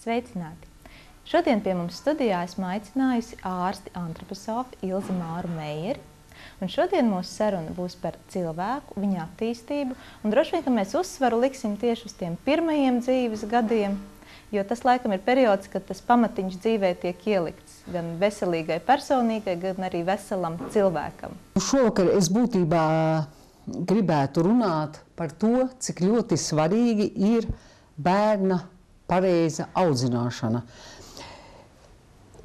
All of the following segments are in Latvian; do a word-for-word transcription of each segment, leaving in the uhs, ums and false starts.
Sveicināti! Šodien pie mums studijā esmu aicinājusi ārsti antroposofu Ilzi Māru Meieri. Un šodien mūsu saruna būs par cilvēku, viņa attīstību, un droši vien, ka mēs uzsvaru liksim tieši uz tiem pirmajiem dzīves gadiem, jo tas laikam ir periods, kad tas pamatiņš dzīvē tiek ielikts gan veselīgai personīgai, gan arī veselam cilvēkam. Šovakar es būtībā gribētu runāt par to, cik ļoti svarīgi ir bērna pareiza audzināšana.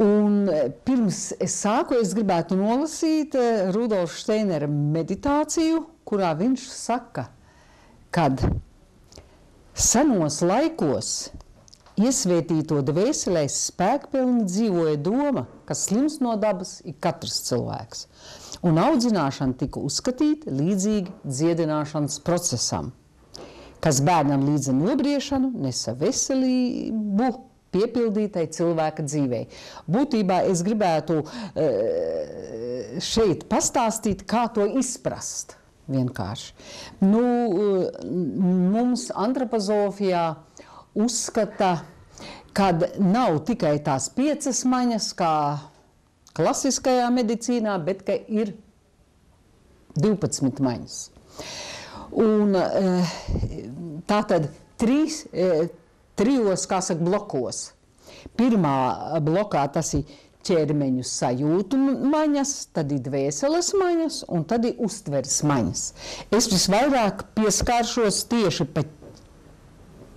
Un pirms es sāku, es gribētu nolasīt Rudolfa Steinera meditāciju, kurā viņš saka, kad senos laikos iesvētīto dvēselēs spēkpilni dzīvoja doma, ka slims no dabas ir katrs cilvēks, un audzināšana tika uzskatīta līdzīgi dziedināšanas procesam, kas bērnam līdz nobriešanu nesa veselību piepildītai cilvēka dzīvei. Būtībā es gribētu šeit pastāstīt, kā to izprast vienkārši. Nu, mums antropozofijā uzskata, kad nav tikai tās piecas maņas, kā klasiskajā medicīnā, bet ka ir divpadsmit maņas. Un tātad trīs, trijos, kā saka, blokos. Pirmā blokā tas ir ķermeņu sajūtu maņas, tad ir dvēseles maņas un tad ir uztveres maņas. Es visvairāk pieskāršos tieši pa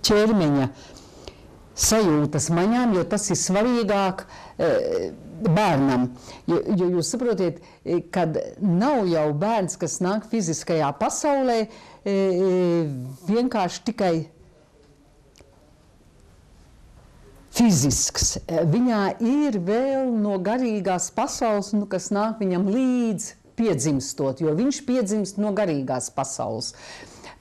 ķermeņa sajūtas maņām, jo tas ir svarīgāk e, bērnam. Jo, jo jūs saprotiet, kad nav jau bērns, kas nāk fiziskajā pasaulē, e, vienkārši tikai fizisks. Viņā ir vēl no garīgās pasaules, nu, kas nāk viņam līdz piedzimstot, jo viņš piedzimst no garīgās pasaules.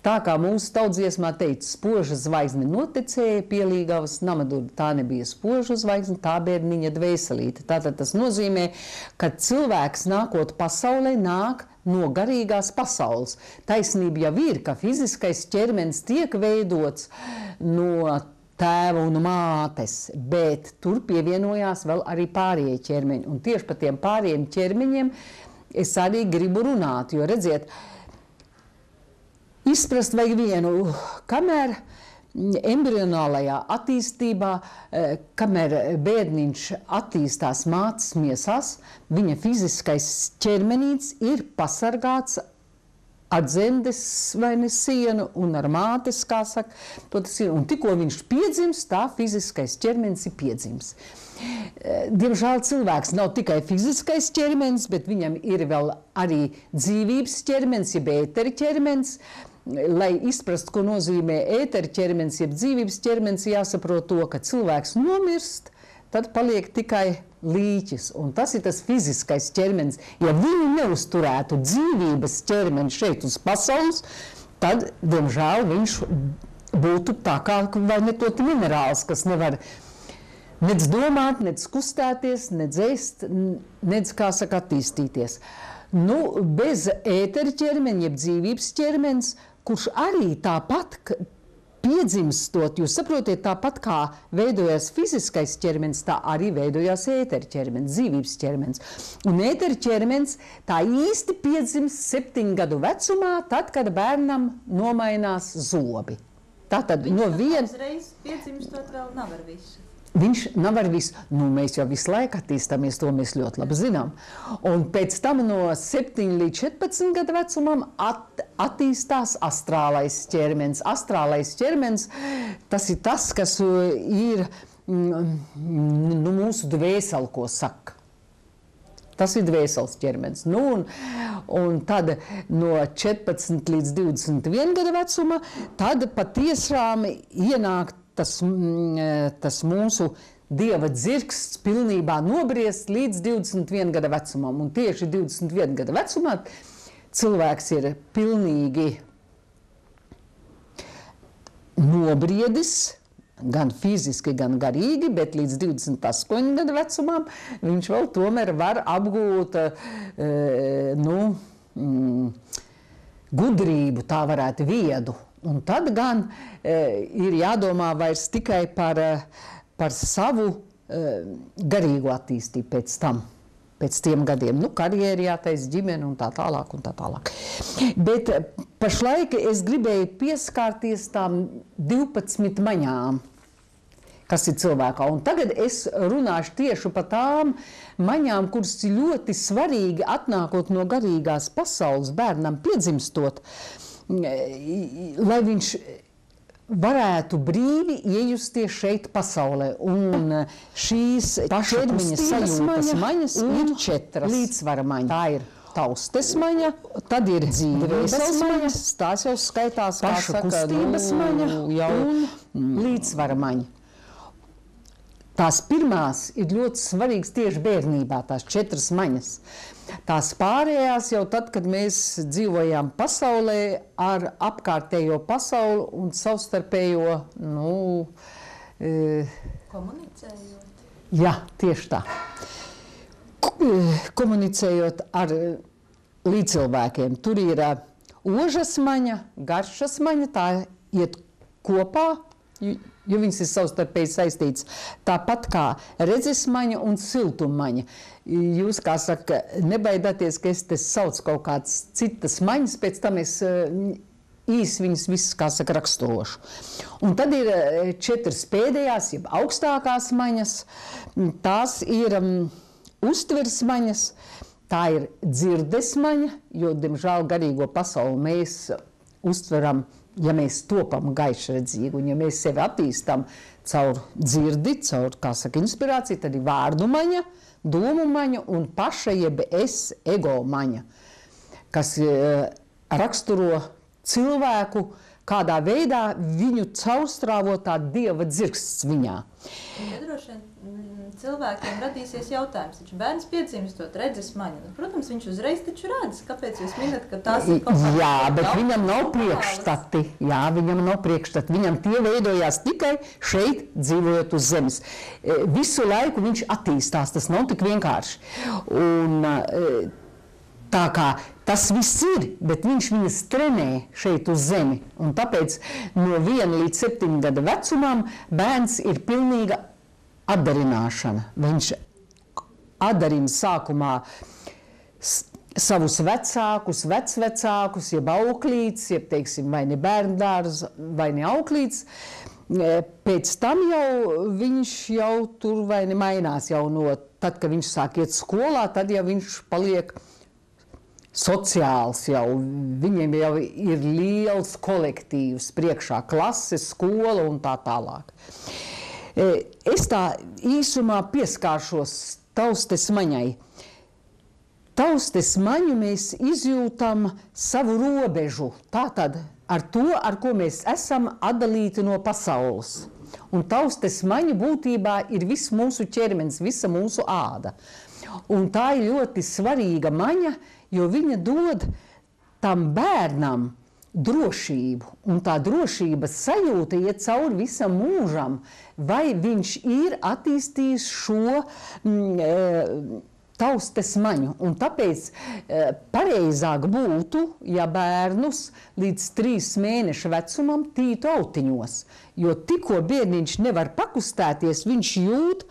Tā kā mūsu tautsdziesmā teica, spoža zvaigzne notekēja pielīgavas namaduri, tā nebija spoža zvaigzne, tā bērniņa dvēselīte. Tātad tas nozīmē, ka cilvēks nākot pasaulē nāk no garīgās pasaules. Taisnība jau ir, ka fiziskais ķermenis tiek veidots no tēva un mātes, bet tur pievienojās vēl arī pārējie ķermeņi. Un tieši par tiem pārējiem ķermeņiem es arī gribu runāt, jo redziet, izprast vajag vienu, kamēr embrionālajā attīstībā, kamēr bērniņš attīstās mātes miesās, viņa fiziskais ķermenīts ir pasargāts ar dzemdes vai ne sienu un ar mātes, kā saka, to tas ir. Un tikko viņš piedzims, tā fiziskais ķermenis ir piedzims. Diemžēl cilvēks nav tikai fiziskais ķermenis, bet viņam ir vēl arī dzīvības ķermenis, jeb ētera ķermenis. Lai izprastu, ko nozīmē ētera ķermenis, jeb dzīvības ķermenis, jāsaprot to, ka cilvēks nomirst, tad paliek tikai līķis, un tas ir tas fiziskais ķermenis. Ja viņu neuzturētu dzīvības ķermeni šeit uz pasaules, tad, diemžēl, viņš būtu tā kā vai ne tot minerāls, kas nevar nec domāt, nec kustēties, nec ēst, nec, kā saka, attīstīties. Nu, bez ētera ķermeņa, jeb dzīvības ķermenis, kurš arī tāpat piedzimstot, jūs saprotiet, tāpat kā veidojās fiziskais ķermenis, tā arī veidojās ētera ķermenis, dzīvības ķermenis. Un ētera ķermenis tā īsti piedzimst septiņu gadu vecumā, tad, kad bērnam nomainās zobi. Tātad Viņš no viena... Uzreiz piedzimstot vēl nav ar visu. Viņš nav ar visu. Nu, mēs jau visu laiku attīstāmies, to mēs ļoti labi zinām. Un pēc tam no septiņu līdz četrpadsmit gadu vecumam at, attīstās astrālais ķermenis. Astrālais ķermenis, tas ir tas, kas ir nu, mūsu dvēseli, ko saka. Tas ir dvēseles ķermenis. Nu, un, un tad no četrpadsmit līdz divdesmit viena gada vecuma, tad patiešām ienāk Tas, tas mūsu dieva dzirksts pilnībā nobriest līdz divdesmit viena gada vecumam. Un tieši divdesmit viena gada vecumā cilvēks ir pilnīgi nobriedis, gan fiziski, gan garīgi, bet līdz divdesmit astoņu gadu vecumam viņš vēl tomēr var apgūt nu, gudrību, tā varētu viedu. Un tad gan e, ir jādomā vairs tikai par, par savu garīgo attīstību pēc tam, pēc tiem gadiem. Nu, karjeri jātais, ģimene un tā tālāk un tā tālāk. Bet pašlaik es gribēju pieskārties tām divpadsmit maņām, kas ir cilvēkā. Un tagad es runāšu tieši par tām maņām, kuras ir ļoti svarīgi atnākot no garīgās pasaules bērnam piedzimstot, lai viņš varētu brīvi iejusties šeit pasaulē. Un šīs ķermeņa sajūtas maņas ir četras. Līdzsvara maņa. Tā ir taustes maņa, tad ir dzīvības maņas, tās jau skaitās, kā saka, kustības maņa un līdzsvara maņa. Tās pirmās ir ļoti svarīgas tieši bērnībā, tās četras maņas. Tās pārējās jau tad, kad mēs dzīvojām pasaulē ar apkārtējo pasauli un savstarpējo, nu... E, komunicējot? Jā, tieši tā. Komunicējot ar līdzcilvēkiem. Tur ir ožas maņa, garšas maņa, tā iet kopā, jo viņas ir savstarpēji saistītas. Tāpat kā redzesmaņa un siltummaņa. Jūs, kā saka, nebaidāties, ka es te saucu kaut kādas citas maņas, pēc tam es īsi viņas visas, kā saka, raksturošu. Un tad ir četras pēdējās, jeb augstākās maņas. Tās ir um, uztveres maņas, tā ir dzirdes maņa, jo, diemžēl, garīgo pasauli mēs uztveram, ja mēs topam gaišredzīgi un ja mēs sevi attīstam caur dzirdi, caur, kā saka, inspirāciju, tad ir vārdu maņa, domu maņa un paša jeb es ego maņa, kas uh, raksturo cilvēku, kādā veidā viņu caurstrāvo tā dieva dzirksts viņā. Ja droši vien cilvēkiem radīsies jautājums, taču bērns piedzimstot redzes maņu. Protams, viņš uzreiz taču redz, kāpēc jūs minat, ka tās ir kaut kādas... Jā, bet viņam nav priekšstati. Jā, viņam nav priekšstati. Viņam tie veidojās tikai šeit, dzīvojot uz zemes. Visu laiku viņš attīstās, tas nav tik vienkārši. Un tā kā tas viss ir, bet viņš viņas trenē šeit uz zemi. Un tāpēc no viena līdz septiņu gada vecumam bērns ir pilnīga atdarināšana. Viņš atdarina sākumā savus vecākus, vecvecākus, jeb auklītes, jeb, teiksim, vai ne bērndārs, vai ne auklītes. Pēc tam jau viņš jau tur vai ne mainās jau no, tad, kad viņš sāk iet skolā, tad jau viņš paliek sociāls jau, viņiem jau ir liels kolektīvs priekšā, klases, skola un tā tālāk. Es tā īsumā pieskāršos taustes maņai. Taustes maņu mēs izjūtam savu robežu, tātad ar to, ar ko mēs esam atdalīti no pasaules. Un taustes maņa būtībā ir viss mūsu ķermenis, visa mūsu āda. Un tā ir ļoti svarīga maņa, jo viņa dod tam bērnam drošību, un tā drošības sajūta iet cauri visam mūžam, vai viņš ir attīstījis šo mm, taustes maņu. Un tāpēc e, pareizāk būtu, ja bērnus līdz trīs mēnešu vecumam tītu autiņos, jo tikko bērniņš nevar pakustēties, viņš jūt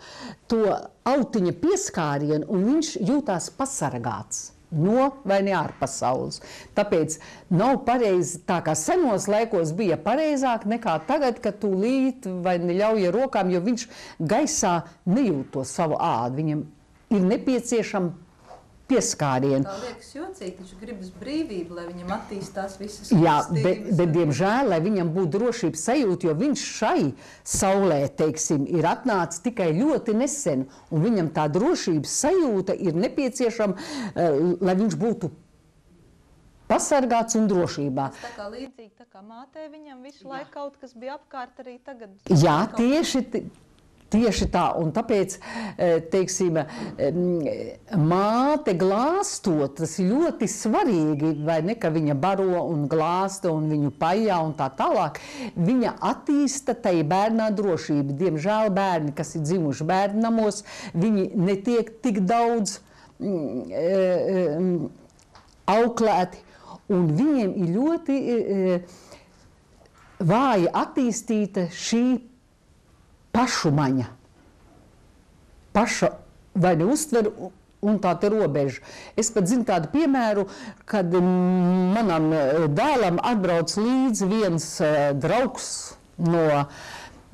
to autiņa pieskārienu, un viņš jūtās pasargāts no vai ne ārpasaules. Tāpēc nav pareizi, tā kā senos laikos bija pareizāk nekā tagad, kad tūlīt vai neļauj ar rokām, jo viņš gaisā nejūt to savu ādu. Viņam ir nepieciešama pieskārienu. Tā liekas jocīgi, taču gribas brīvību, lai viņam attīstās visas Jā, bet, bet diemžēl, lai viņam būtu drošības sajūta, jo viņš šai saulē, teiksim, ir atnācis tikai ļoti nesen, un viņam tā drošības sajūta ir nepieciešama, lai viņš būtu pasargāts un drošībā. Tas tā kā līdzīgi, tā kā mātē viņam visu Jā. laiku kaut kas bija apkārt arī tagad. Jā, tieši... Tieši tā, un tāpēc, teiksim, māte glāstot, tas ir ļoti svarīgi, vai ne, ka viņa baro un glāsta un viņu pajā un tā tālāk, viņa attīsta tai bērnā drošību. Diemžēl bērni, kas ir dzimuši bērnamos, viņi netiek tik daudz mm, auklēti, un viņiem ir ļoti vāja attīstīta šī pašu maņa. paša vai ne uztver un tā te robeža. Es pat zinu tādu piemēru, kad manam dēlam atbrauc līdzi viens draugs no,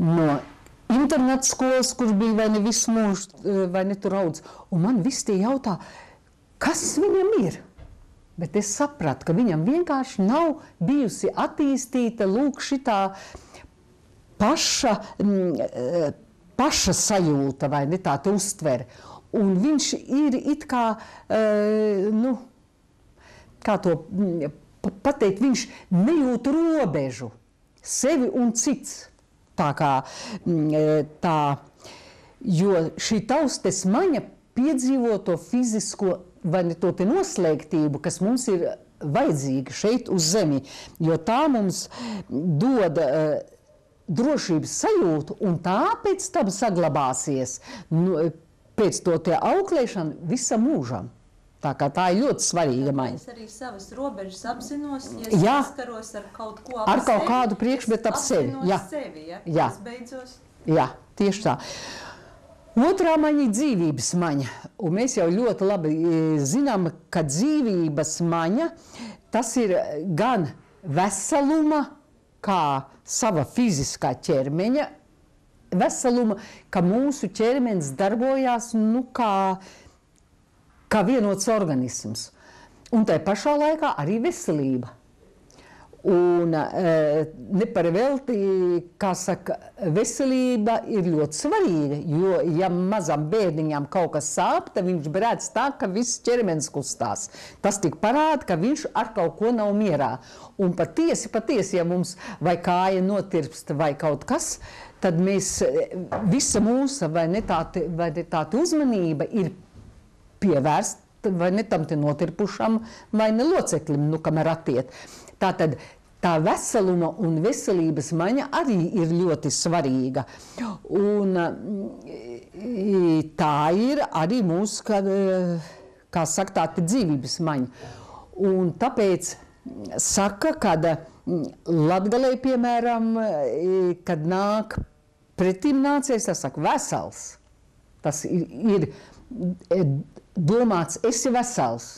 no interneta skolas, kurš bija vai ne visu mūžu, vai ne tur audz. Un man visi tie jautā, kas viņam ir? Bet es sapratu, ka viņam vienkārši nav bijusi attīstīta lūk šitā paša, paša sajūta, vai ne tā te uztvere. Un viņš ir it kā, uh, nu, kā to pateikt, viņš nejūt robežu, sevi un cits. Tā kā, tā, jo šī taustes maņa piedzīvo to fizisko, vai ne to te noslēgtību, kas mums ir vajadzīga šeit uz zemi, jo tā mums dod uh, drošības sajūtu, un tā pēc tam saglabāsies, nu, pēc to tie auklēšana visam mūžam. Tā kā tā ir ļoti svarīga maņa. Es arī savas robežas apzinos, ja Jā. es saskaros ar kaut ko ap Ar kaut sevi, kādu priekšmetu ap sevi. apzinos Jā. sevi, ja? Jā. Es beidzos. Jā, tieši tā. Otrā maņa ir dzīvības maņa. Un mēs jau ļoti labi zinām, ka dzīvības maņa, tas ir gan veseluma, kā sava fiziskā ķermeņa, veseluma, ka mūsu ķermenis darbojās nu, kā, kā vienots organisms. Un tai pašā laikā arī veselība. Un e, neparvelti, kā saka, veselība ir ļoti svarīga, jo ja mazam bērniņam kaut kas sāp, tad viņš brēc tā, ka viss ķermenis kustās. Tas tik parāda, ka viņš ar kaut ko nav mierā. Un patiesi, patiesi, ja mums vai kāja notirpst vai kaut kas, tad mēs, visa mūsu vai ne tāda, vai ne tāda uzmanība ir pievērsta vai ne tam te notirpušam vai ne loceklim, nu, kamēr attiet. Tātad tā veseluma un veselības maņa arī ir ļoti svarīga. Un tā ir arī mūsu, kā, kā saka, tā dzīvības maņa. Un tāpēc saka, kad Latgalē, piemēram, kad nāk pretim nācies, tas saka vesels. Tas ir, ir domāts, esi vesels,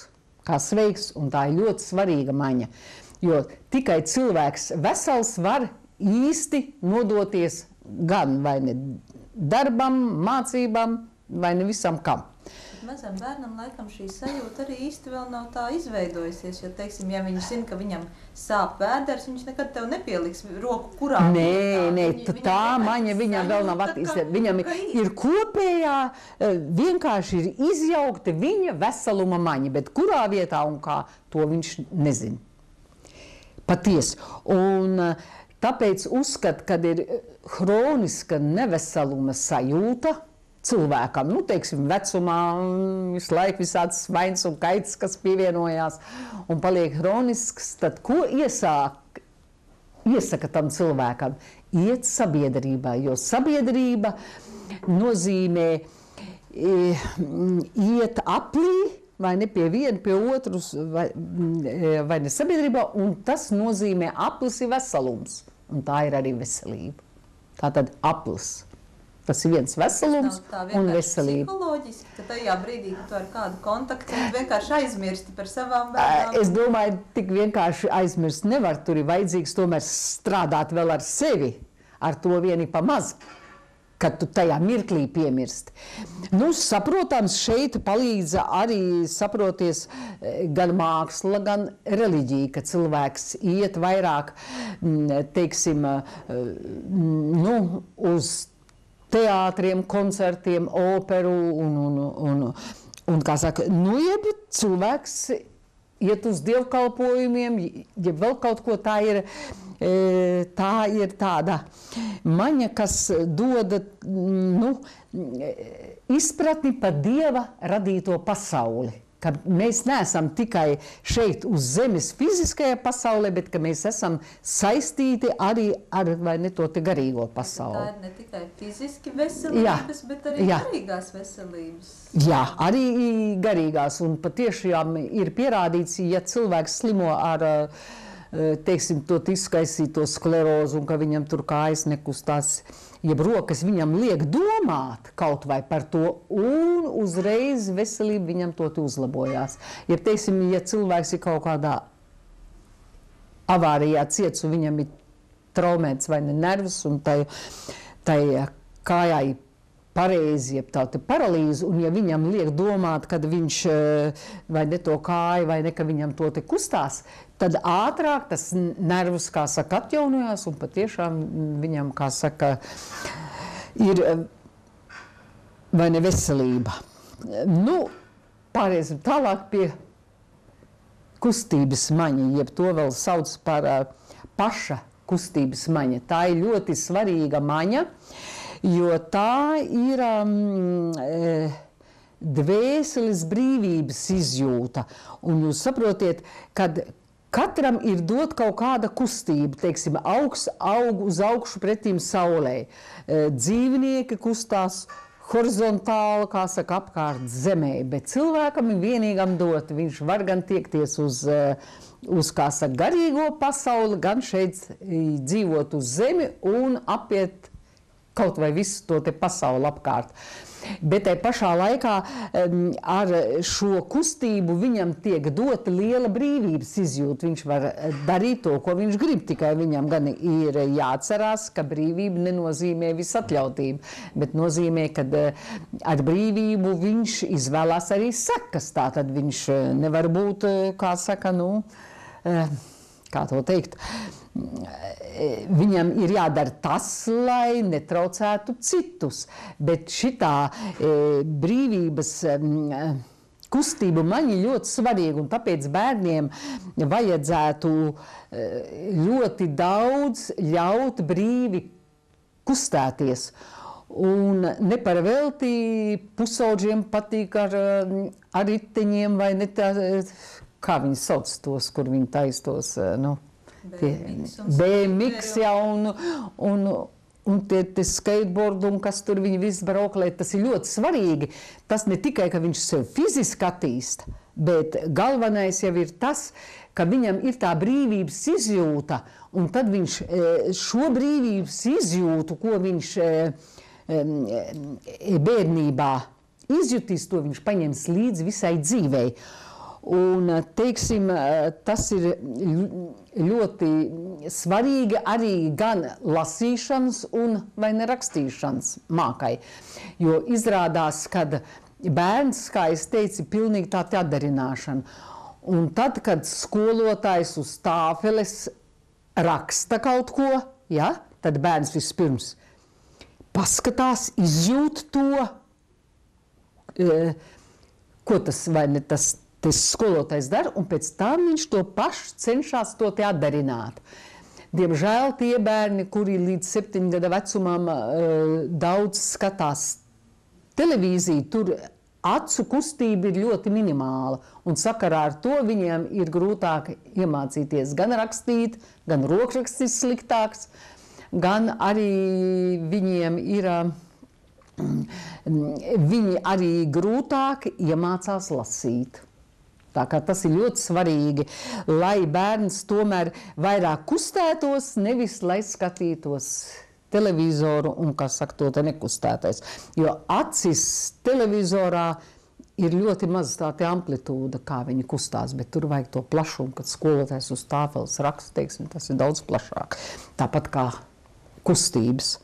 kā sveiks, un tā ir ļoti svarīga maņa. Jo tikai cilvēks vesels var īsti nodoties gan vai ne darbam, mācībām, vai ne visam kam. Mazam bērnam laikam šī sajūta arī īsti vēl nav tā izveidojusies, jo, teiksim, ja viņš zina, ka viņam sāp vēders, viņš nekad tev nepieliks roku kurā. Nē, nē, tā maņa viņam vēl nav attīstīta. Viņam ir kopējā, vienkārši ir izjaukta viņa veseluma maņa, bet kurā vietā un kā, to viņš nezina. Patiesi. Un tāpēc uzskat, kad ir hroniska neveseluma sajūta cilvēkam, nu, teiksim, vecumā visu laiku visāds svains un kaits, kas pievienojās un paliek hronisks, tad ko iesāk, iesaka tam cilvēkam? Iet sabiedrībā, jo sabiedrība nozīmē e, iet aplī, vai ne pie viena, pie otras, vai, vai ne sabiedrībā, un tas nozīmē aplis ir veselums, un tā ir arī veselība. Tātad aplis. Tas ir viens veselums un veselība. Psiholoģiski, ka tajā brīdī, kad tu ar kādu kontaktu vienkārši aizmirsti par savām bērnām. Es domāju, tik vienkārši aizmirst nevar, tur ir vajadzīgs tomēr strādāt vēl ar sevi, ar to vieni pa maz, kad tu tajā mirklī piemirsti. Nu, saprotams, šeit palīdz arī saproties gan māksla, gan reliģija, ka cilvēks iet vairāk, teiksim, nu, uz teātriem, koncertiem, operu un, un, un, un kā saka, nu, jeb cilvēks iet uz dievkalpojumiem, ja vēl kaut ko tā ir, tā ir tāda maņa, kas dod, nu, izpratni par Dieva radīto pasauli. Ka mēs neesam tikai šeit uz zemes fiziskajā pasaulē, bet ka mēs esam saistīti arī ar, vai ne, to te garīgo pasauli. Tā ir ne tikai fiziski veselības, Jā. bet arī Jā. garīgās veselības. Jā, arī garīgās, un patiešām ir pierādīts, ja cilvēks slimo ar teiksim, to izskaisīto sklerozu un ka viņam tur kājas nekustās, jeb rokas viņam liek domāt kaut vai par to un uzreiz veselība viņam to uzlabojās. Jeb, teiksim, ja cilvēks ir kaut kādā avārijā ciets un viņam ir traumēts vai ne nervs un tai, tai kājā ir pareizi, jeb tā te paralīze, un ja viņam liek domāt, kad viņš vai ne to kāju, vai ne, ka viņam to te kustās, tad ātrāk tas nervus, kā saka, atjaunojās, un patiešām viņam, kā saka, ir vai ne veselība. Nu, pāriesim tālāk pie kustības maņa, jeb to vēl sauc par paša kustības maņa. Tā ir ļoti svarīga maņa, jo tā ir um, dvēseles brīvības izjūta. Un jūs saprotiet, kad katram ir dot kaut kāda kustība, teiksim, augs aug uz augšu pretīm saulei. Dzīvnieki kustās horizontāli, kā saka, apkārt zemē, bet cilvēkam ir vienīgam dot. Viņš var gan tiekties uz, uz kā saka, garīgo pasauli, gan šeit dzīvot uz zemi un apiet kaut vai visu to te pasauli apkārt. Bet tai pašā laikā ar šo kustību viņam tiek dota liela brīvības izjūta. Viņš var darīt to, ko viņš grib, tikai viņam gan ir jāatcerās, ka brīvība nenozīmē visatļautību, bet nozīmē, ka ar brīvību viņš izvēlās arī sekas. Tātad viņš nevar būt, kā saka, nu, kā to teikt, viņam ir jādara tas, lai netraucētu citus, bet šitā e, brīvības e, kustība man ir ļoti svarīga, un tāpēc bērniem vajadzētu e, ļoti daudz ļaut brīvi kustēties. Un neparvelti pusauģiem patīk ar, ar riteņiem vai ne tā, kā viņi sauc tos, kur viņi taistos, nu, B M X, jā, un, un, un tie, tie skateboard, un kas tur viņi visi brauklē, tas ir ļoti svarīgi. Tas ne tikai, ka viņš sev fiziski attīst, bet galvenais jau ir tas, ka viņam ir tā brīvības izjūta, un tad viņš šo brīvības izjūtu, ko viņš bērnībā izjutīs, to viņš paņems līdzi visai dzīvei. Un, teiksim, tas ir ļoti svarīgi arī gan lasīšanas un vai ne rakstīšanas mākai. Jo izrādās, kad bērns, kā es teicu, ir pilnīgi tā atdarināšana. Un tad, kad skolotājs uz tāfeles raksta kaut ko, ja, tad bērns vispirms paskatās, izjūt to, ko tas vai ne tas tas skolotājs dara, un pēc tam viņš to pašu cenšas to te atdarināt. Diemžēl tie bērni, kuri līdz septiņu gada vecumam daudz skatās televīziju, tur acu kustība ir ļoti minimāla, un sakarā ar to viņiem ir grūtāk iemācīties gan rakstīt, gan rokraksts ir sliktāks, gan arī viņiem ir, viņi arī grūtāk iemācās lasīt. Tā kā tas ir ļoti svarīgi, lai bērns tomēr vairāk kustētos, nevis lai skatītos televizoru un, kā saka, to te nekustētais. Jo acis televizorā ir ļoti maz tā te amplitūda, kā viņi kustās, bet tur vajag to plašumu, kad skolotājs uz tāfeles raksta, teiksim, tas ir daudz plašāk. Tāpat kā kustības.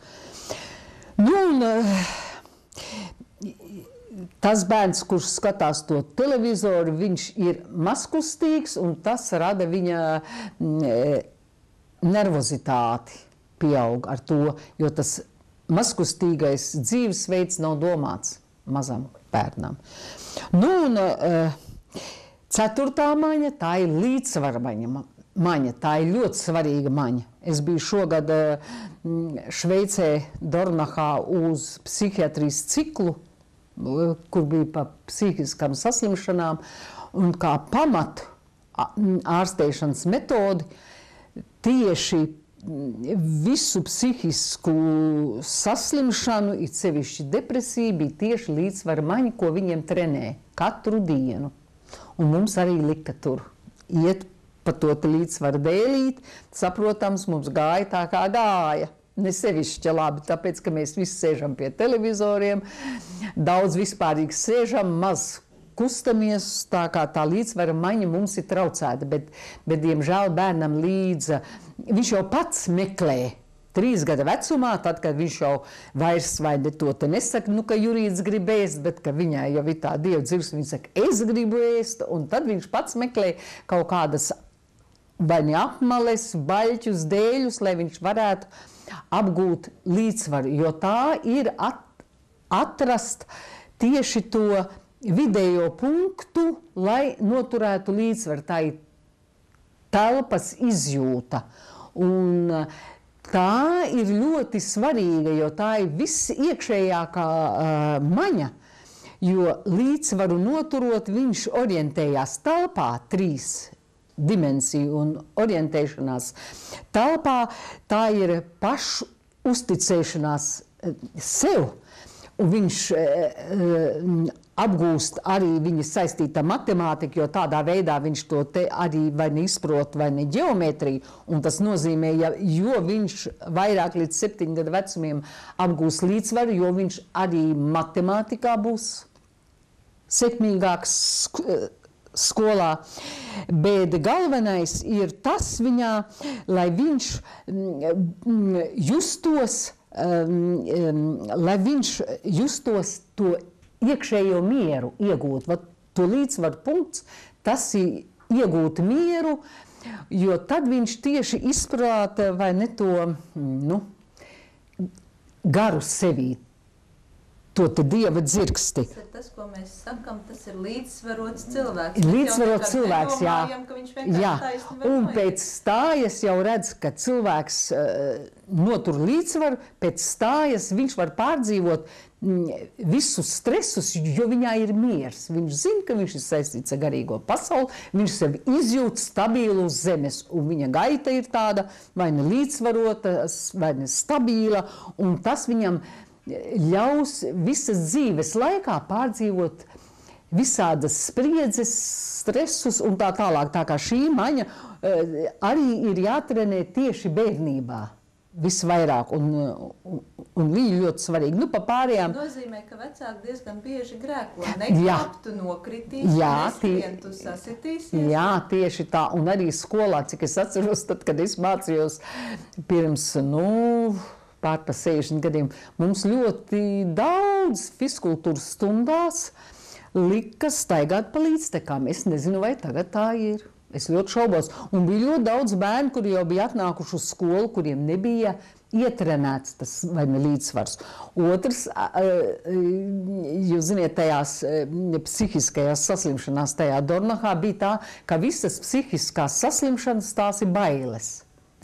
Nu, un tas bērns, kurš skatās to televizoru, viņš ir mazkustīgs, un tas rada viņa nervozitāti pieaug ar to, jo tas mazkustīgais dzīvesveids nav domāts mazam bērnam. Nu, un ceturtā maņa, tā ir līdzsvara maņa. maņa. Tā ir ļoti svarīga maņa. Es biju šogad Šveicē, Dornachā uz psihiatrijas ciklu, kur bija pa psihiskām saslimšanām, un kā pamat ārstēšanas metodi tieši visu psihisku saslimšanu, it sevišķi depresiju, bija tieši līdzsvara maņa, ko viņiem trenē katru dienu. Un mums arī lika tur iet pa to līdzsvaru dēlīt, saprotams, mums gāja tā kā gāja. Ne sevišķi labi, tāpēc, ka mēs visi sēžam pie televizoriem, daudz vispārīgi sēžam, maz kustamies, tā kā tā līdzsvara maiņa mums ir traucēta, bet, bet diemžēl bērnam līdza, viņš jau pats meklē trīs gada vecumā, tad, kad viņš jau vairs vai ne to te nesaka, nu, ka Jurīts grib ēst, bet ka viņai jau ir tā dieva dzirds, viņš saka, es gribu ēst, un tad viņš pats meklē kaut kādas vai ne apmales, baļķus, dēļus, lai viņš varētu apgūt līdzsvaru, jo tā ir at, atrast tieši to vidējo punktu, lai noturētu līdzsvaru. Tā ir telpas izjūta. Un tā ir ļoti svarīga, jo tā ir viss iekšējākā uh, maņa, jo līdzsvaru noturot viņš orientējās telpā trīs dimensiju un orientēšanās telpā, tā ir pašu uzticēšanās sev, un viņš e, e, apgūst arī viņa saistīta matemātika, jo tādā veidā viņš to te arī vai neizprot, vai ne ģeometriju, un tas nozīmē, ja, jo viņš vairāk līdz septiņu gadu vecumiem apgūst līdzsvaru, jo viņš arī matemātikā būs sekmīgāks skolā, bet galvenais ir tas viņā, lai viņš justos, lai viņš justos to iekšējo mieru iegūt. Vat to līdzsvaru punkts, tas ir iegūt mieru, jo tad viņš tieši izprāta vai ne to, nu, garu sevī. To te dieva dzirksti. Tas ir tas, ko mēs sakam, tas ir līdzsvarots cilvēks. Līdzsvarots cilvēks, jā. Jā. Un pēc noiet. stājas jau redz, ka cilvēks uh, notur līdzsvaru, pēc stājas viņš var pārdzīvot mm, visus stresus, jo viņā ir miers. Viņš zina, ka viņš ir saistīts ar garīgo pasauli, viņš sevi izjūt stabilu uz zemes, un viņa gaita ir tāda vai ne līdzsvarota, vai ne stabila, un tas viņam ļaus visas dzīves laikā pārdzīvot visādas spriedzes, stresus un tā tālāk. Tā kā šī maņa arī ir jātrenē tieši bērnībā visvairāk, un, un, un viņi ļoti svarīgi. Nu, pa pārējām... Tas nozīmē, ka vecāki diezgan bieži grēko. Nekāptu nokritīs, neskrientu sasitīsies. Jā, tieši tā. Un arī skolā, cik es atceros, tad, kad es mācījos pirms, nu... pār pa sešdesmit gadiem, mums ļoti daudz fiskultūras stundās lika staigāt pa līdztekām. Es nezinu, vai tagad tā ir. Es ļoti šaubos. Un bija ļoti daudz bērnu, kuri jau bija atnākuši uz skolu, kuriem nebija ietrenēts tas vai ne līdzsvars. Otrs, jūs ziniet, tajās psihiskajās saslimšanās tajā Dornachā bija tā, ka visas psihiskās saslimšanas tās ir bailes.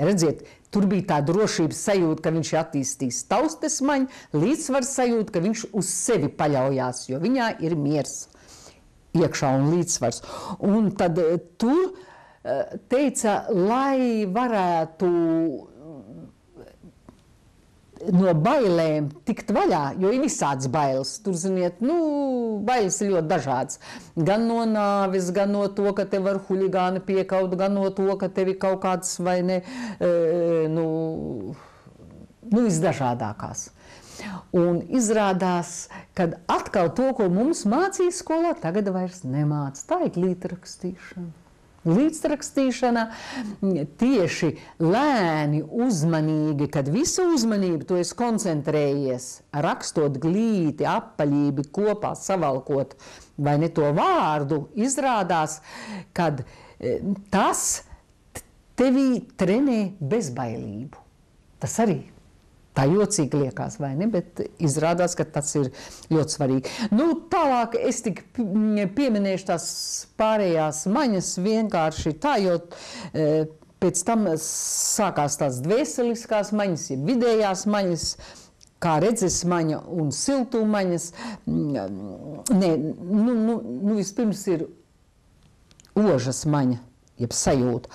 Redziet, tur bija tā drošības sajūta, ka viņš ir attīstījis taustesmaņu, līdzsvars sajūta, ka viņš uz sevi paļaujās, jo viņā ir miers iekšā un līdzsvars. Un tad tur teica, lai varētu no bailēm tikt vaļā, jo ir visāds bailes. Tur, ziniet, nu, bailes ir ļoti dažādas. Gan no nāves, gan no to, ka tev var huligāni piekaut, gan no to, ka tev ir kaut kāds vai ne, e, nu, nu, visdažādākās. Un izrādās, kad atkal to, ko mums mācīja skolā, tagad vairs nemāc. Tā ir līdzrakstīšana. Līdzrakstīšana tieši lēni, uzmanīgi, kad visu uzmanību tu esi koncentrējies, rakstot glīti, apaļību kopā, savalkot vai ne to vārdu, izrādās, kad tas tevī trenē bezbailību. Tas arī tā jocīgi liekas, vai ne, bet izrādās, ka tas ir ļoti svarīgi. Nu, tālāk es tik pieminēšu tās pārējās maņas vienkārši tā, jo e, pēc tam sākās tās dvēseliskās maņas, ja vidējās maņas, kā redzes maņa un siltumaņas. Nē, nu, nu, nu vispirms ir ožas maņa, jeb sajūta.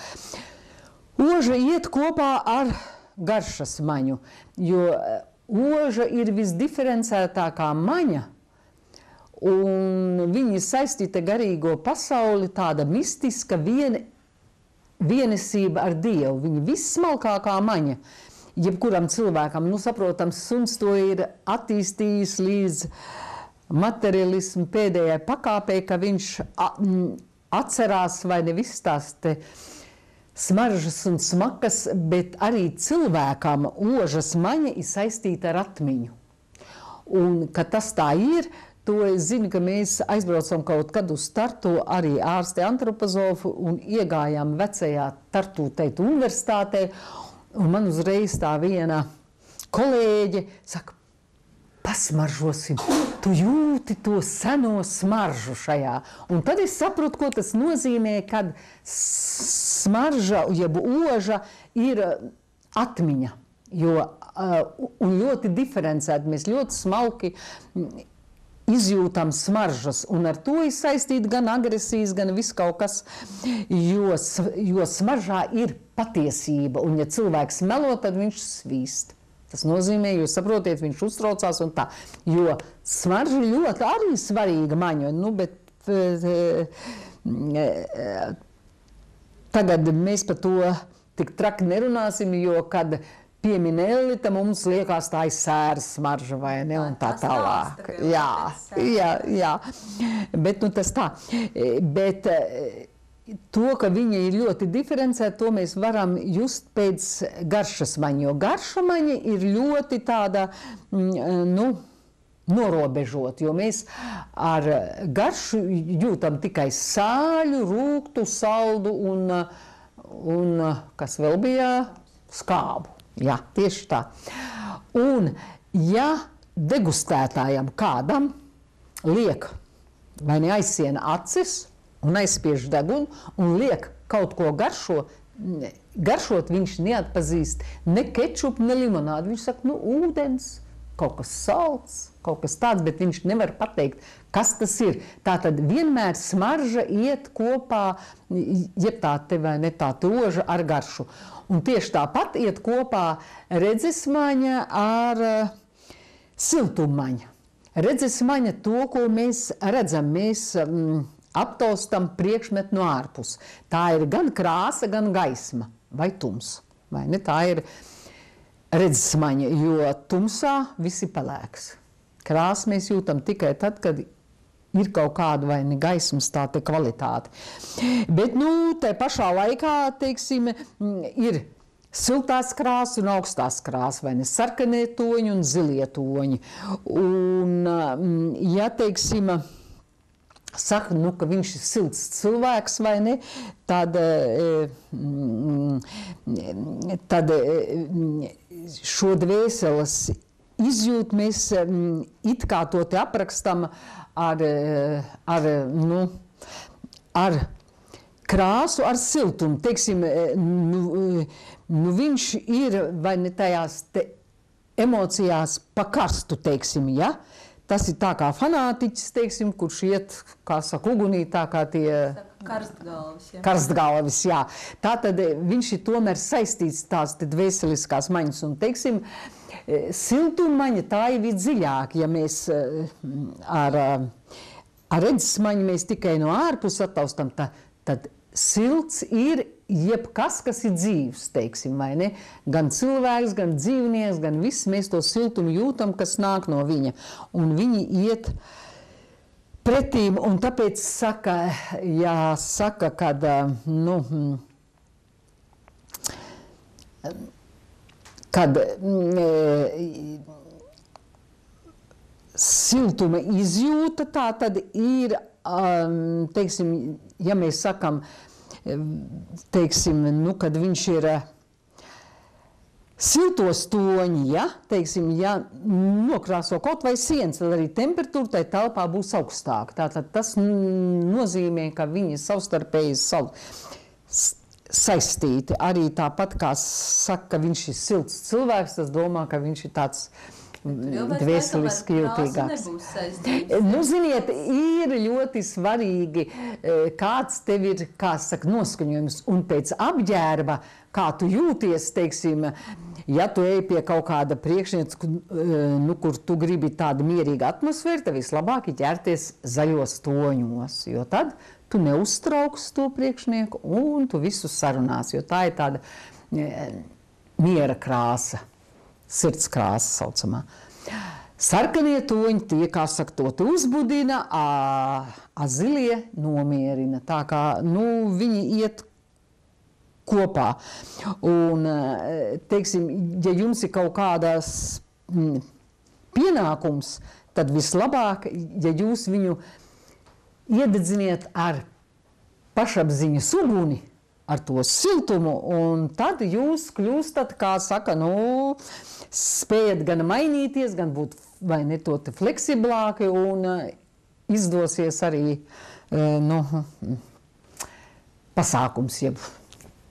Oža iet kopā ar garšas maņu, jo oža ir visdiferencētākā maņa, un viņa saistīta garīgo pasauli, tāda mistiska, viena vienesība ar Dievu, viņa vissmalkākā maņa. Jebkuram cilvēkam, nu, saprotams, suns to ir attīstījis līdz materialismu pēdējai pakāpei, ka viņš atcerās vai ne visas tās te smaržas un smakas, bet arī cilvēkam ožas maņa ir saistīta ar atmiņu. Un, ka tas tā ir, to es zinu, ka mēs aizbraucam kaut kad uz Tartu, arī ārsti antropozofu, un iegājām vecajā Tartu teitu universitātē, un man uzreiz tā viena kolēģe saka, pasmaržosim, tu jūti to seno smaržu šajā. Un tad es saprotu, ko tas nozīmē, kad smarža, jeb oža ir atmiņa. Jo, un ļoti diferencēti, mēs ļoti smalki izjūtam smaržas, un ar to ir saistīta gan agresijas, gan viss kaut kas, jo, jo smaržā ir patiesība, un ja cilvēks melo, tad viņš svīst. Tas nozīmē, jūs saprotiet, viņš uztraucās un tā, jo smarža ļoti arī svarīga maņa, nu, bet e, e, tagad mēs par to tik traki nerunāsim, jo, kad piemin Ellita, mums liekas tā ir sēras smarža, vai ne, un tā tālāk. Jā, jā, jā, bet nu tas tā, bet to, ka viņa ir ļoti diferencēta, to mēs varam just pēc garšas maņa, jo garša maņa ir ļoti tāda, nu, norobežot, jo mēs ar garšu jūtam tikai sāļu, rūgtu, saldu un, un kas vēl bija, skābu. Jā, tieši tā. Un, ja degustētājam kādam liek vai ne aizsiena acis, un aizspiež degunu, un liek kaut ko garšo, garšot viņš neatpazīst ne kečupu, ne limonādu. Viņš saka, nu, ūdens, kaut kas salds, kaut kas tāds, bet viņš nevar pateikt, kas tas ir. Tātad vienmēr smarža iet kopā, jeb tā te vai ne tā oža ar garšu. Un tieši tāpat iet kopā redzesmaņa ar uh, siltummaņa. Redzesmaņa to, ko mēs redzam, mēs um, aptaustam priekšmetu no ārpus. Tā ir gan krāsa, gan gaisma, vai tums. Vai ne? Tā ir redzesmaņa, jo tumsā viss ir pelēks. Krāsu mēs jūtam tikai tad, kad ir kaut kāda vai ne gaismas tā te kvalitāte. Bet, nu, tai pašā laikā, teiksim, ir siltās krāsas un augstās krāsas, vai ne sarkanie toņi un zilie toņi. Un, ja, teiksim, saka, nu, ka viņš ir silts cilvēks, vai ne, tad, tad šo dvēseles izjūt mēs it kā to te aprakstam ar, ar, nu, ar krāsu, ar siltumu. Teiksim, nu, nu viņš ir vai ne tajās te emocijās pa karstu, teiksim, ja? Tas ir tā kā fanātiķis, teiksim, kurš iet, kā saka, ugunī, tā kā tie karstgalvis, jā. Karstgalvis, jā. Tātad viņš ir tomēr saistīts tās te dvēseliskās maņas, un, teiksim, siltummaņa tā ir dziļāk, ja mēs ar, ar redzesmaņu mēs tikai no ārpus attaustam, tā, tad silts ir jebkas, kas ir dzīvs, teiksim, vai ne? Gan cilvēks, gan dzīvnieks, gan viss mēs to siltumu jūtam, kas nāk no viņa. Un viņi iet pretīm, un tāpēc saka, jāsaka, kad, nu, kad siltuma izjūta, tā tad ir, teiksim, ja mēs sakam, teiksim, nu, kad viņš ir siltos toņi, ja, teiksim, ja nokrāso kaut vai sienas, tad arī temperatūra tai telpā būs augstāka. Tātad tas nozīmē, ka viņi savstarpēji sav... saistīti. Arī tāpat, kā saka, ka viņš ir silts cilvēks, tas domā, ka viņš ir tāds dvēseliski jūtīgāks. Nu, ziniet, ir ļoti svarīgi, kāds tev ir, kā saka, noskaņojums, un pēc apģērba, kā tu jūties, teiksim, Ja tu ej pie kaut kāda priekšnieka, nu, kur tu gribi tādu mierīgu atmosfēru, tad vislabāk ir ķerties zaļos toņos, jo tad tu neuztrauks to priekšnieku un tu visu sarunās, jo tā ir tāda miera krāsa, sirds krāsa saucamā. Sarkanie toņi tie, kā saka, to tu uzbudina, a, a zilie nomierina. Tā kā, nu, viņi iet kopā. Un, teiksim, ja jums ir kaut kādas mm, pienākums, tad vislabāk, ja jūs viņu iededziniet ar pašapziņas uguni, ar to siltumu, un tad jūs kļūstat, kā saka, nu, spējat gan mainīties, gan būt vai ne to te fleksiblāki, un uh, izdosies arī, uh, nu, pasākums, jeb,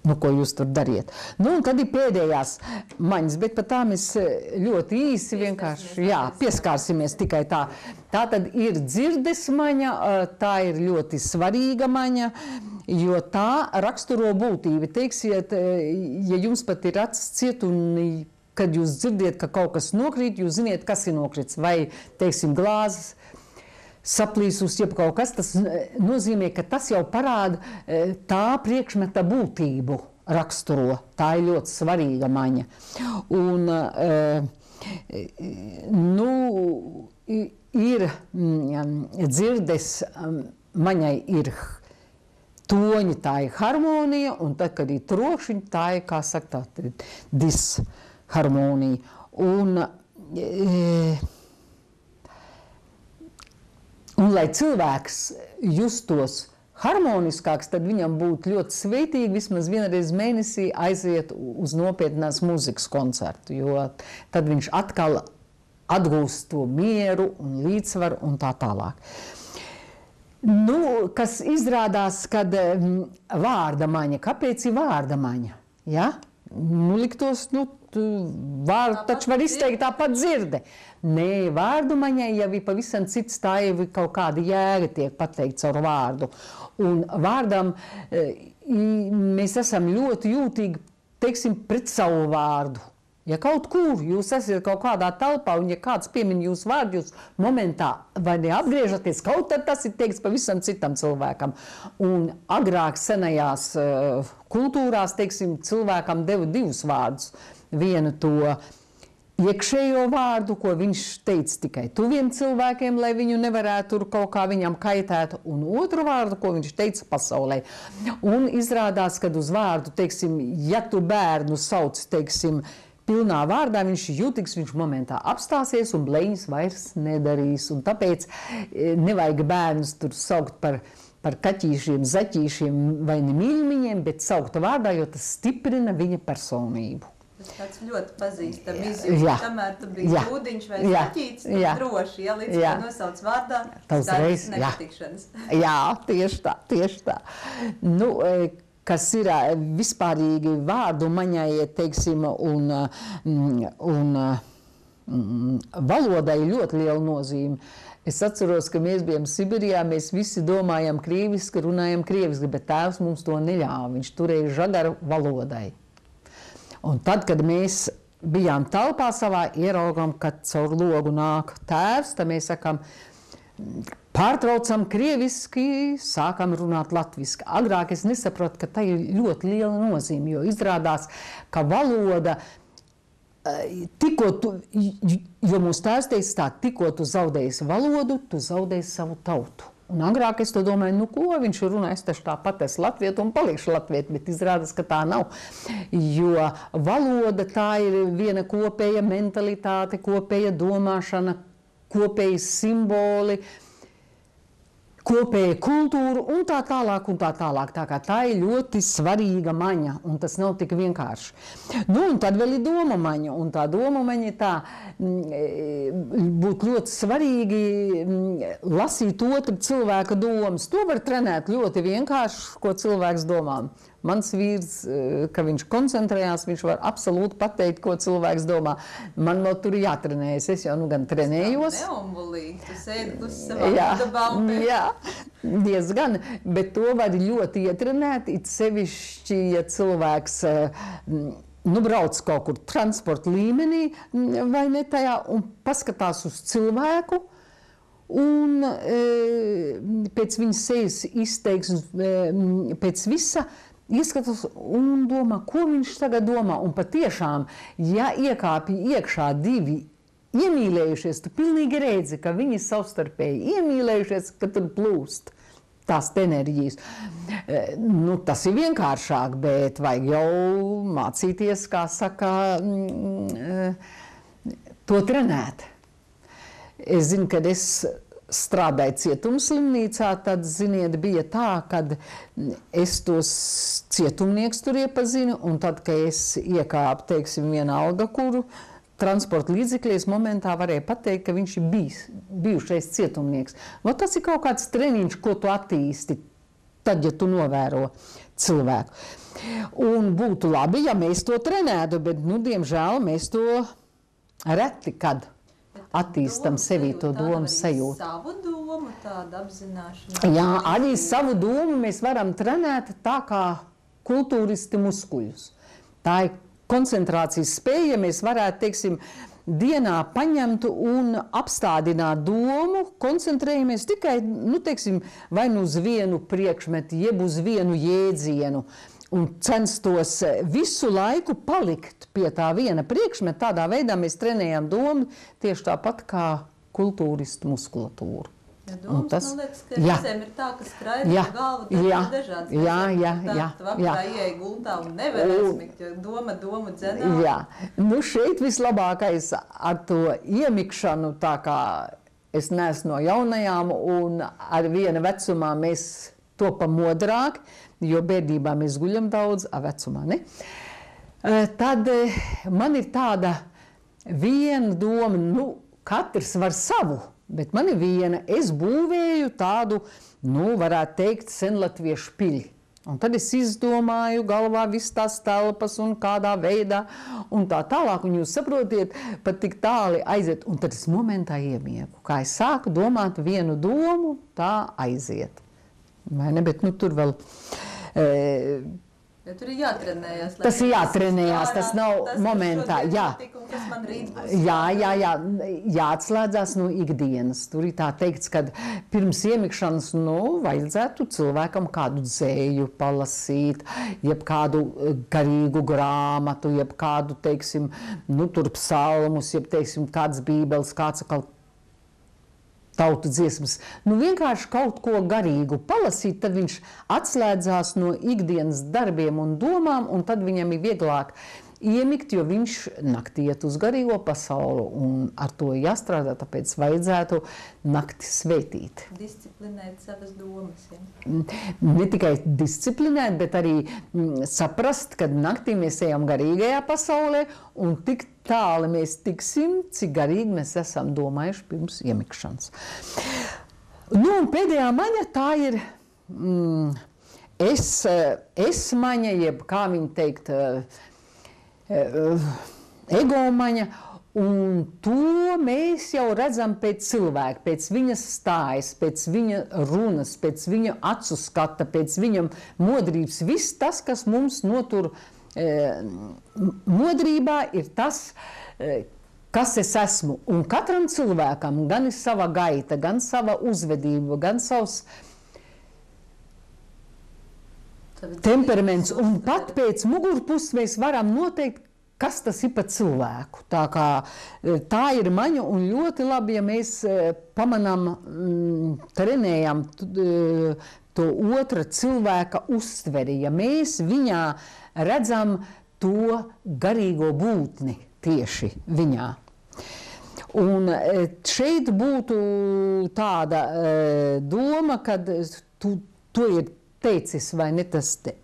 nu, ko jūs tur dariet. Nu, un tad ir pēdējās maņas, bet par tām es ļoti īsi vienkārši, jā, pieskārsimies tikai tā. Tā tad ir dzirdes maņa, tā ir ļoti svarīga maņa, jo tā raksturo būtību. Teiksiet, ja jums pat ir acis ciet un kad jūs dzirdiet, ka kaut kas nokrīt, jūs ziniet, kas ir nokrits, vai, teiksim, glāzes, saplīsus, jeb kaut kas, tas nozīmē, ka tas jau parāda tā priekšmeta būtību raksturo. Tā ir ļoti svarīga maņa. Un, nu, ir dzirdes maņai ir toņi, tā ir harmonija, un tad, kad ir trokšņi, tā ir, kā saka, tā disharmonija. Un, e, Un, lai cilvēks justos harmoniskāks, tad viņam būtu ļoti sveitīgi vismaz vienreiz mēnesī aiziet uz nopietnās mūzikas koncertu, jo tad viņš atkal atgūst to mieru un līdzsvaru un tā tālāk. Nu, kas izrādās, kad vārda maņa, kāpēc ir vārda maņa? Ja? Nu, liktos, nu, vārdu taču var izteikt tāpat dzirde. Nē, vārdu maņai jau ir pavisam cits, tā jau ir kaut kāda jēga tiek pateikt caur vārdu. Un vārdam mēs esam ļoti jūtīgi, teiksim, pret savu vārdu. Ja kaut kur jūs esat kaut kādā telpā un ja kāds piemin jūsu vārdu, jūs momentā vai neapgriežaties, kaut tad tas ir teiks pavisam citam cilvēkam. Un agrāk senajās uh, kultūrās, teiksim, cilvēkam deva divus vārdus. Vienu to iekšējo vārdu, ko viņš teica tikai tuviem cilvēkiem, lai viņu nevarētu tur kaut kā viņam kaitēt, un otru vārdu, ko viņš teica pasaulē. Un izrādās, kad uz vārdu, teiksim, ja tu bērnu sauc, teiksim, pilnā vārdā, viņš jūtīgs, viņš momentā apstāsies un bleņas vairs nedarīs. Un tāpēc nevajag bērnus tur saukt par, par kaķīšiem, zaķīšiem vai ne mīļumiņiem, bet saukt vārdā, jo tas stiprina viņa personību. Tas tāds ļoti pazīstam izjūta, kamēr tu biji jūdiņš vai zaķīts, tu jā. droši, ja līdz jā. nosauc vārdā, tādas nepatikšanas. Jā, tieši tā, tieši tā. Nu, kas ir vispārīgi vārdu maņai, teiksim, un, un, un valodai ļoti liela nozīme. Es atceros, ka mēs bijām Sibirijā, mēs visi domājam krieviski, runājam krieviski, bet tēvs mums to neļāva, viņš turēja žagaru valodai. Un tad, kad mēs bijām telpā savā, ieraugām, kad caur logu nāk tēvs, tad mēs sakām, pārtraucam krieviski, sākam runāt latviski. Agrāk es nesapratu, ka tā ir ļoti liela nozīme, jo izrādās, ka valoda, tikko tu, jo mūsu tēvs teica tā, tikko tu zaudēsi valodu, tu zaudēsi savu tautu. Un agrāk es to domāju, nu ko viņš runā, es taču tāpat esmu latvietu un palikšu latvietu, bet izrādās, ka tā nav. Jo valoda tā ir viena kopēja mentalitāte, kopēja domāšana, kopēji simboli, kopēja kultūra un tā tālāk un tā tālāk. Tā kā tā ir ļoti svarīga maņa, un tas nav tik vienkārši. Nu, un tad vēl ir doma maņa, un tā doma maņa tā būtu ļoti svarīgi lasīt otru cilvēka domas. To var trenēt ļoti vienkārši, ko cilvēks domā. Mans vīrs, ka viņš koncentrējās, viņš var absolūti pateikt, ko cilvēks domā. Man vēl tur jātrenējas, es jau nu gan trenējos. Tas nav neombulīgi, tu sēdi uz savā dabā un te... Jā, diezgan, bet to var ļoti ietrenēt, it sevišķi, ja cilvēks nu, brauc kaut kur transporta līmenī vai ne tajā un paskatās uz cilvēku un e, pēc viņas sejas izteiksmes, e, pēc visa ieskatās un domā, ko viņš tagad domā. Un patiešām, ja iekāpja iekšā divi iemīlējušies, tu pilnīgi redzi, ka viņi savstarpēji iemīlējušies, ka tur plūst tās enerģijas. Nu, tas ir vienkāršāk, bet vajag jau mācīties, kā saka, to trenēt. Es zinu, kad es strādāju cietumslimnīcā, tad, ziniet, bija tā, kad es tos cietumnieks tur iepazinu, un tad, kad es iekāpu, teiksim, vienalga, kuru transporta līdzekļies momentā varēja pateikt, ka viņš ir bijis, bijušais cietumnieks. No, tas ir kaut kāds treniņš, ko tu attīsti, tad, ja tu novēro cilvēku. Un būtu labi, ja mēs to trenētu, bet, nu, diemžēl, mēs to reti kad attīstam sevī to domu sajūtu. Savu domu, tādu apzināšanu. Jā, arī savu domu mēs varam trenēt tā kā kultūristi muskuļus. Tā ir koncentrācijas spēja, ja mēs varētu, teiksim, dienā paņemt un apstādināt domu, koncentrējamies tikai, nu, teiksim, vai nu uz vienu priekšmetu, jeb uz vienu jēdzienu, un censtos visu laiku palikt pie tā viena priekšmeta. Tādā veidā mēs trenējam domu tieši tāpat kā kultūristu muskulatūru. Ja domas, tas, man liekas, ka reizēm ir tā, ka skraida jā, galva, tad jā, ir dažādas. Jā, jā, tā, jā. Tu vakarā ieej gultā un nevar aizmigt, jo doma, doma dzenā. Jā, nu šeit vislabākais ar to iemikšanu, tā kā es neesmu no jaunajām, un ar viena vecumā mēs topam modrāki, jo bērnībā mēs guļam daudz, a vecumā ne. Tad man ir tāda viena doma, nu, katrs var savu. Bet man ir viena, es būvēju tādu, nu, varētu teikt, senlatviešu pili. Un tad es izdomāju galvā viss tās telpas un kādā veidā un tā tālāk. Un jūs saprotiet, pat tik tāli aiziet. Un tad es momentā iemiegu. Kā es sāku domāt vienu domu, tā aiziet. Vai ne? Bet nu tur vēl... E, Ja tur ir jātrenējās. Tas ir jātrenējās, tas nav tas, momentā. Jā. jā, jā, jā, jāatslēdzās no ikdienas. Tur ir tā teikts, ka pirms iemikšanas, nu, vajadzētu cilvēkam kādu dzēju palasīt, jeb kādu garīgu grāmatu, jeb kādu, teiksim, nu, tur psalmus, jeb, teiksim, kāds bībeles, kāds atkal tautu dziesmas. Nu, vienkārši kaut ko garīgu palasīt, tad viņš atslēdzās no ikdienas darbiem un domām, un tad viņam ir vieglāk iemigt, jo viņš naktī iet uz garīgo pasauli, un ar to jāstrādā, tāpēc vajadzētu nakti svētīt. Disciplinēt savas domas, ja? Ne tikai disciplinēt, bet arī mm, saprast, ka naktī mēs ejam garīgajā pasaulē, un tik tāli mēs tiksim, cik garīgi mēs esam domājuši pirms iemikšanas. Nu, un pēdējā maņa tā ir mm, es, es maņa, jeb kā viņi teikt, egomaņa, un to mēs jau redzam pēc cilvēka, pēc viņas stājas, pēc viņa runas, pēc viņa acu skata, pēc viņa modrības. Viss tas, kas mums notur e, modrībā, ir tas, e, kas es esmu. Un katram cilvēkam gan ir sava gaita, gan sava uzvedība, gan savs temperaments, un pat pēc mugurpuses mēs varam noteikt, kas tas ir pa cilvēku. Tā kā tā ir maņa, un ļoti labi, ja mēs pamanām, trenējam to otra cilvēka uztveri, ja mēs viņā redzam to garīgo būtni tieši viņā. Un šeit būtu tāda doma, kad tu, to ir teicis, vai ne tas te.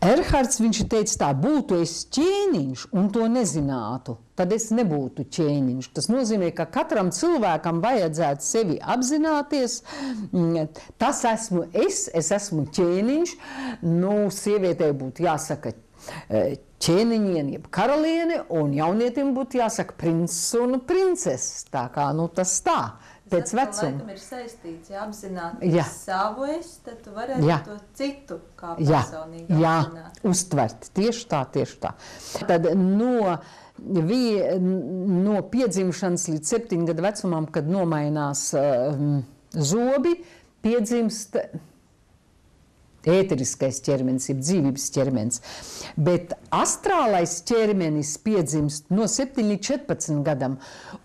Erhards, viņš teica tā, būtu es ķēniņš un to nezinātu, tad es nebūtu ķēniņš. Tas nozīmē, ka katram cilvēkam vajadzētu sevi apzināties. Tas esmu es, es esmu ķēniņš. Nu, sievietei būtu jāsaka ķēniņiene, jeb karaliene, un jaunietim būtu jāsaka princis un princeses. Tā kā, nu, tas tā, pēc vecuma. Laikam ir saistīts, ja apzināties jā. Savu es, tad tu varētu jā. To citu kā personīgi jā. apzināt. Jā, uztvert. Tieši tā, tieši tā. Tad no, vi, no piedzimšanas līdz septiņu gadu vecumam, kad nomainās um, zobi, piedzimst ēteriskais ķermenis, ir dzīvības ķermenis. Bet astrālais ķermenis piedzimst no septiņiem līdz četrpadsmit gadam,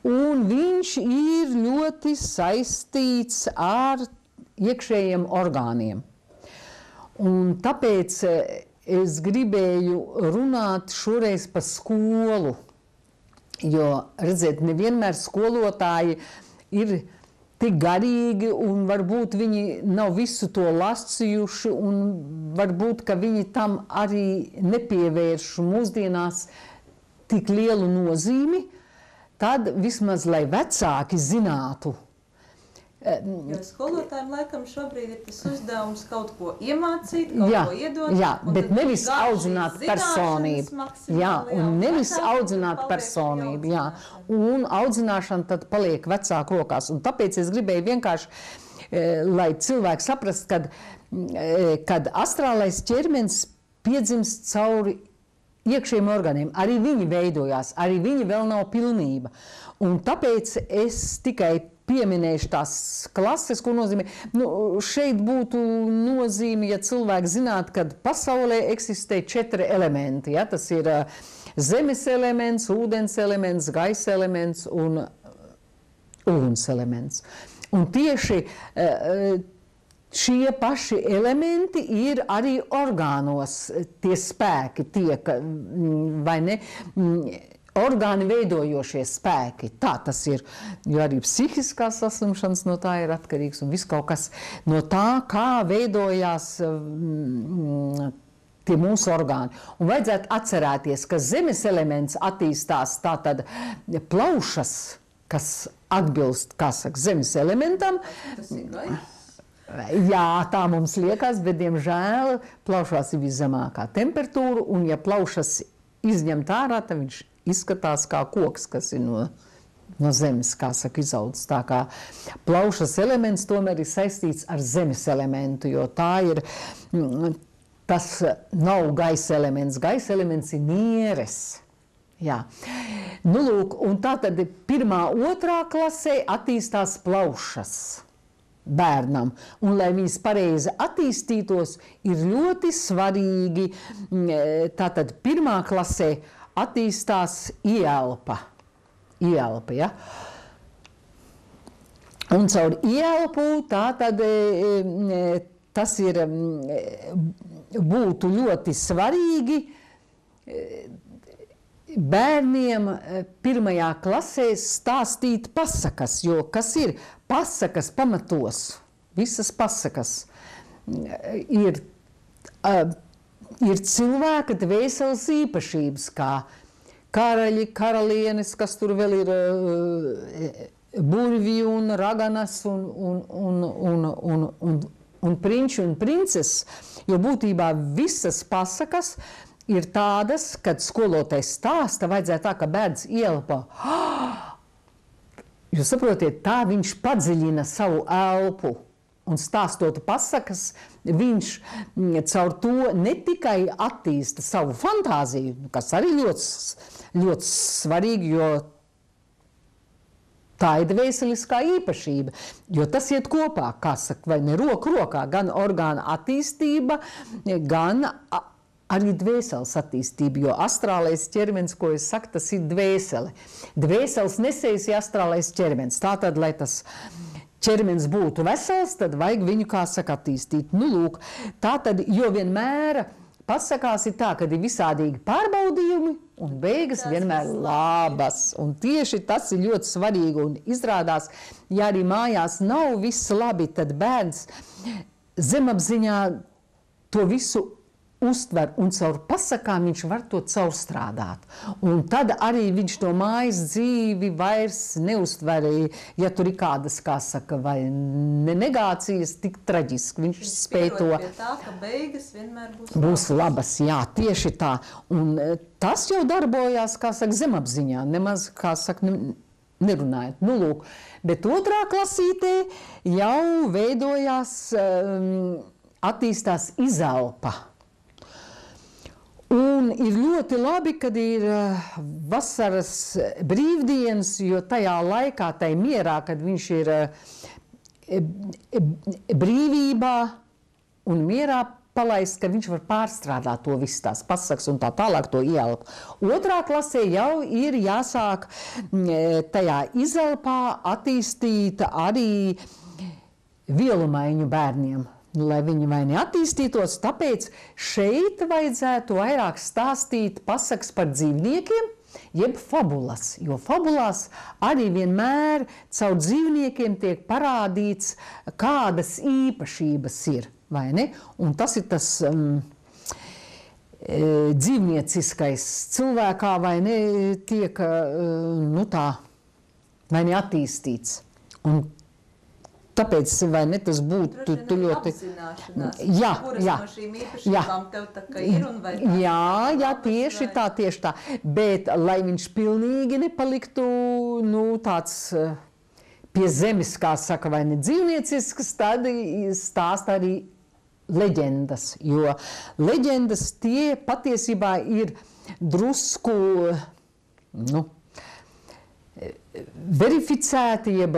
un viņš ir ļoti saistīts ar iekšējiem orgāniem. Un tāpēc es gribēju runāt šoreiz par skolu, jo, redziet, nevienmēr skolotāji ir tik garīgi, un varbūt viņi nav visu to lasījuši, un varbūt, ka viņi tam arī nepievērš mūsdienās tik lielu nozīmi, tad vismaz, lai vecāki zinātu. Jo skolotājiem laikam šobrīd ir tas uzdevums kaut ko iemācīt, kaut jā, ko iedot. Jā, bet nevis audzināt personību. Jā, un nevis audzināt personību. Jā, un audzināšana tad paliek vecāku rokās. Un tāpēc es gribēju vienkārši, lai cilvēki saprast, kad, kad astrālais ķermenis piedzimst cauri iekšējiem orgāniem. Arī viņi veidojās, arī viņi vēl nav pilnība. Un tāpēc es tikai pieminējuši tās klases, ko nozīmē. Nu, šeit būtu nozīme, ja cilvēki zinātu, ka pasaulē eksistē četri elementi. Ja? Tas ir uh, zemes elements, ūdens elements, gaisa elements un uguns elements. Un tieši uh, šie paši elementi ir arī orgānos, tie spēki tiek, vai ne, orgāni veidojošie spēki. Tā tas ir, jo arī psihiskās saslimšanas no tā ir atkarīgs un viss kaut kas no tā, kā veidojās mm, tie mūsu orgāni. Un vajadzētu atcerēties, ka zemes elements attīstās tātad plaušas, kas atbilst, kā saka, zemes elementam. Tas ir gaiss. Jā, tā mums liekas, bet, diemžēl, plaušās ir viszemākā temperatūra, un ja plaušas izņemt ārā, tad viņš izskatās kā koks, kas ir no, no zemes, kā saka, izaudzis. Tā kā plaušas elements tomēr ir saistīts ar zemes elementu, jo tā ir, tas nav gaisa elements. Gaisa elements ir nieres. Jā. Nu, lūk, un tā tad pirmā, otrā klasē attīstās plaušas bērnam. Un, lai viņas pareizi attīstītos, ir ļoti svarīgi, tātad pirmā klasē attīstās ielpa. Ielpa, ja? Un caur ielpu tā tad tas ir, būtu ļoti svarīgi bērniem pirmajā klasē stāstīt pasakas, jo kas ir pasakas pamatos, visas pasakas ir ir cilvēka dvēseles īpašības, kā karaļi, karalienes, kas tur vēl ir burvi un raganas un, un, un, un, un, un, un prinči un princeses, jo būtībā visas pasakas ir tādas, kad skolotājs stāsta, vajadzētu tā, ka bērns ielpa. Jūs saprotiet, tā viņš padziļina savu elpu. Un stāstot pasakas, viņš caur to ne tikai attīsta savu fantāziju, kas arī ļoti, ļoti svarīgi, jo tā ir dvēseliskā īpašība, jo tas iet kopā, kā saka, vai ne roku rokā, gan orgāna attīstība, gan arī dvēseles attīstība, jo astrālais ķermenis, ko es saku, tas ir dvēsele. Dvēseles nesējis ir astrālais ķermenis, tātad, lai tas ķermenis būtu vesels, tad vajag viņu, kā saka, attīstīt. Nu, lūk, tā tad, jo vienmēr pasakās ir tā, kad ir visādīgi pārbaudījumi un beigas vienmēr labas. Un tieši tas ir ļoti svarīgi un izrādās, ja arī mājās nav viss labi, tad bērns zemapziņā to visu uztver, un caur pasakām viņš var to caurstrādāt. Un tad arī viņš to mājas dzīvi vairs neuztver, ja tur ir kādas, kā saka, vai ne negācijas, tik traģiski. Viņš, viņš spēj to... pie tā, ka beigas vienmēr būs, būs labas. Jā, tieši tā. Un tas jau darbojās, kā saka, zemapziņā, nemaz, kā saka, nerunājot. Nu, lūk. Bet otrā klasītē jau veidojās, um, attīstās izelpa. Un ir ļoti labi, kad ir vasaras brīvdienas, jo tajā laikā, tai mierā, kad viņš ir brīvībā un mierā palaist, ka viņš var pārstrādāt to visu tās pasakas un tā tālāk to ielpu. Otrā klasē jau ir jāsāk tajā izelpā attīstīt arī vielumaiņu bērniem. Lai viņi vai neattīstītos, tāpēc šeit vajadzētu vairāk stāstīt pasakas par dzīvniekiem, jeb fabulas, jo fabulās arī vienmēr caur dzīvniekiem tiek parādīts, kādas īpašības ir, vai ne? Un tas ir tas um, dzīvnieciskais cilvēkā, vai ne, tiek, uh, nu tā, vai ne attīstīts. Un tāpēc, vai ne, tas būtu tu, tu ļoti... Jā, kuras jā, no šīm īpašībām tev tā kā ir un vai tā? Jā, jā, tieši tā, tieši tā. Bet, lai viņš pilnīgi nepaliktu, nu, tāds pie zemes, kā saka, vai ne dzīvniecisks, tad stāst arī leģendas. Jo leģendas tie patiesībā ir drusku, nu, verificēti, jeb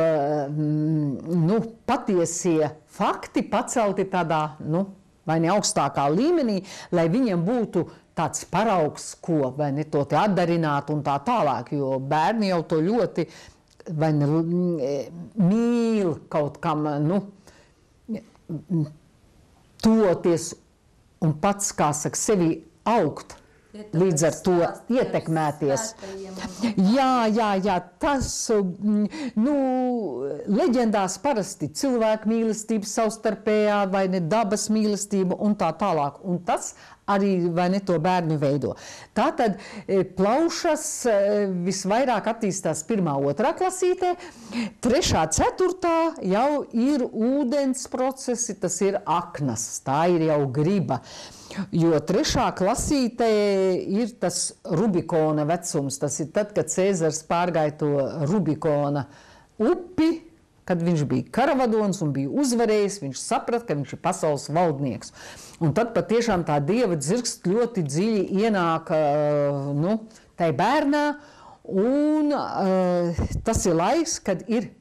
nu, patiesie fakti pacelti tādā, nu, vai ne augstākā līmenī, lai viņiem būtu tāds paraugs, ko, vai ne, to te atdarināt un tā tālāk, jo bērni jau to ļoti, vai ne, mīl kaut kam, nu, toties un pats, kā saka, sevi augt. Līdz ar to ietekmēties. Jā, jā, jā, tas, nu, leģendās parasti cilvēku mīlestība savstarpējā vai ne dabas mīlestība un tā tālāk. Un tas arī, vai ne, to bērni veido. Tātad plaušas visvairāk attīstās pirmā, otrā klasītē, trešā, ceturtā jau ir ūdens procesi, tas ir aknas, tā ir jau griba. Jo trešā klasītē ir tas Rubikona vecums, tas ir tad, kad Cēzars pārgāja to Rubikona upi, kad viņš bija karavadons un bija uzvarējis, viņš saprat, ka viņš ir pasaules valdnieks. Un tad patiešām tā dieva dzirkst ļoti dziļi ienāk, nu, tai bērnā, un uh, tas ir laiks, kad ir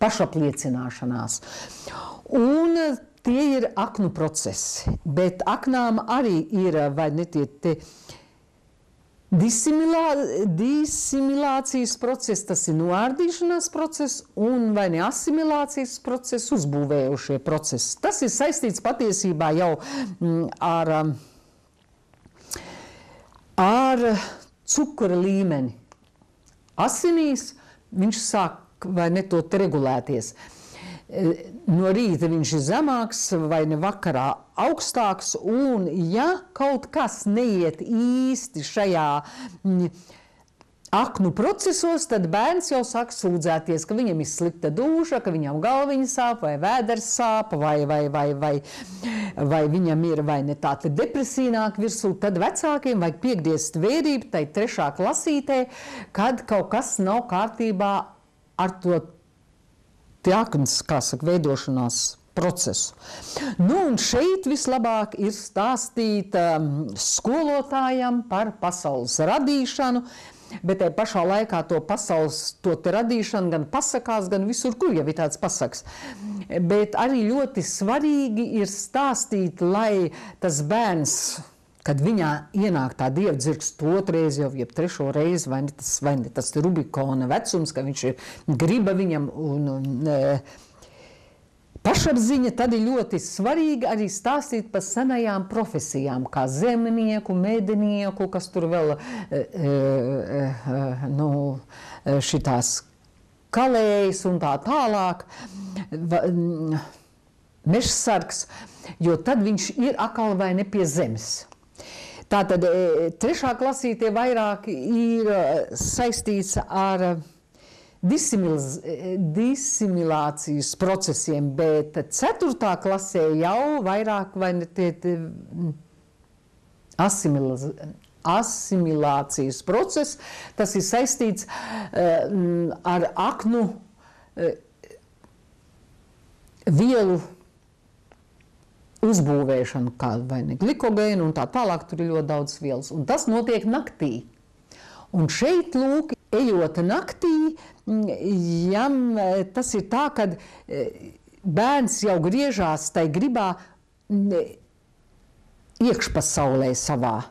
pašapliecināšanās. Un tie ir aknu procesi, bet aknām arī ir, vai ne, tie, tie disimilā, disimilācijas process, tas ir noārdīšanās process, un vai ne asimilācijas process, uzbūvējušie procesi. Tas ir saistīts patiesībā jau mm, ar, ar cukura līmeni. Asinīs viņš sāk, vai ne, to regulēties. No rīta viņš ir zemāks vai ne vakarā augstāks, un ja kaut kas neiet īsti šajā aknu procesos, tad bērns jau sāk sūdzēties, ka viņam ir slikta dūša, ka viņam galviņa sāp, vai vēders sāp, vai, vai, vai, vai, vai viņam ir vai ne tā depresīnāk virsū, tad vecākiem vajag piegriezst vērību tai trešā klasītē, kad kaut kas nav kārtībā ar to aknas, kā saka, veidošanās procesu. Nu, un šeit vislabāk ir stāstīt um, skolotājam par pasaules radīšanu, bet tai pašā laikā to pasaules, to te radīšanu gan pasakās, gan visur, kur jau ir tāds pasaks. Bet arī ļoti svarīgi ir stāstīt, lai tas bērns, kad viņā ienāk tā dievdzirksts otrais jau, jeb trešo reizi, vai ne tas, vai ne tas Rubikona vecums, ka viņš ir griba viņam un, un e, pašapziņa, tad ir ļoti svarīgi arī stāstīt par senajām profesijām, kā zemnieku, medinieku, kas tur vēl e, e, e, nu, šitās kalējas un tā tālāk. mežsargs, jo tad viņš ir atkal vai ne pie zemes. Tātad trešā klasīte vairāk ir saistīts ar disimilācijas procesiem, bet ceturtā klasē jau vairāk vai ne tie asimilācijas process, tas ir saistīts ar aknu vielu uzbūvēšanu, kā vai ne glikogēnu un tā tālāk, tur ir ļoti daudz vielas. Un tas notiek naktī. Un šeit, lūk, ejot naktī, ja, tas ir tā, kad bērns jau griežās tai gribā iekšpasaulē savā,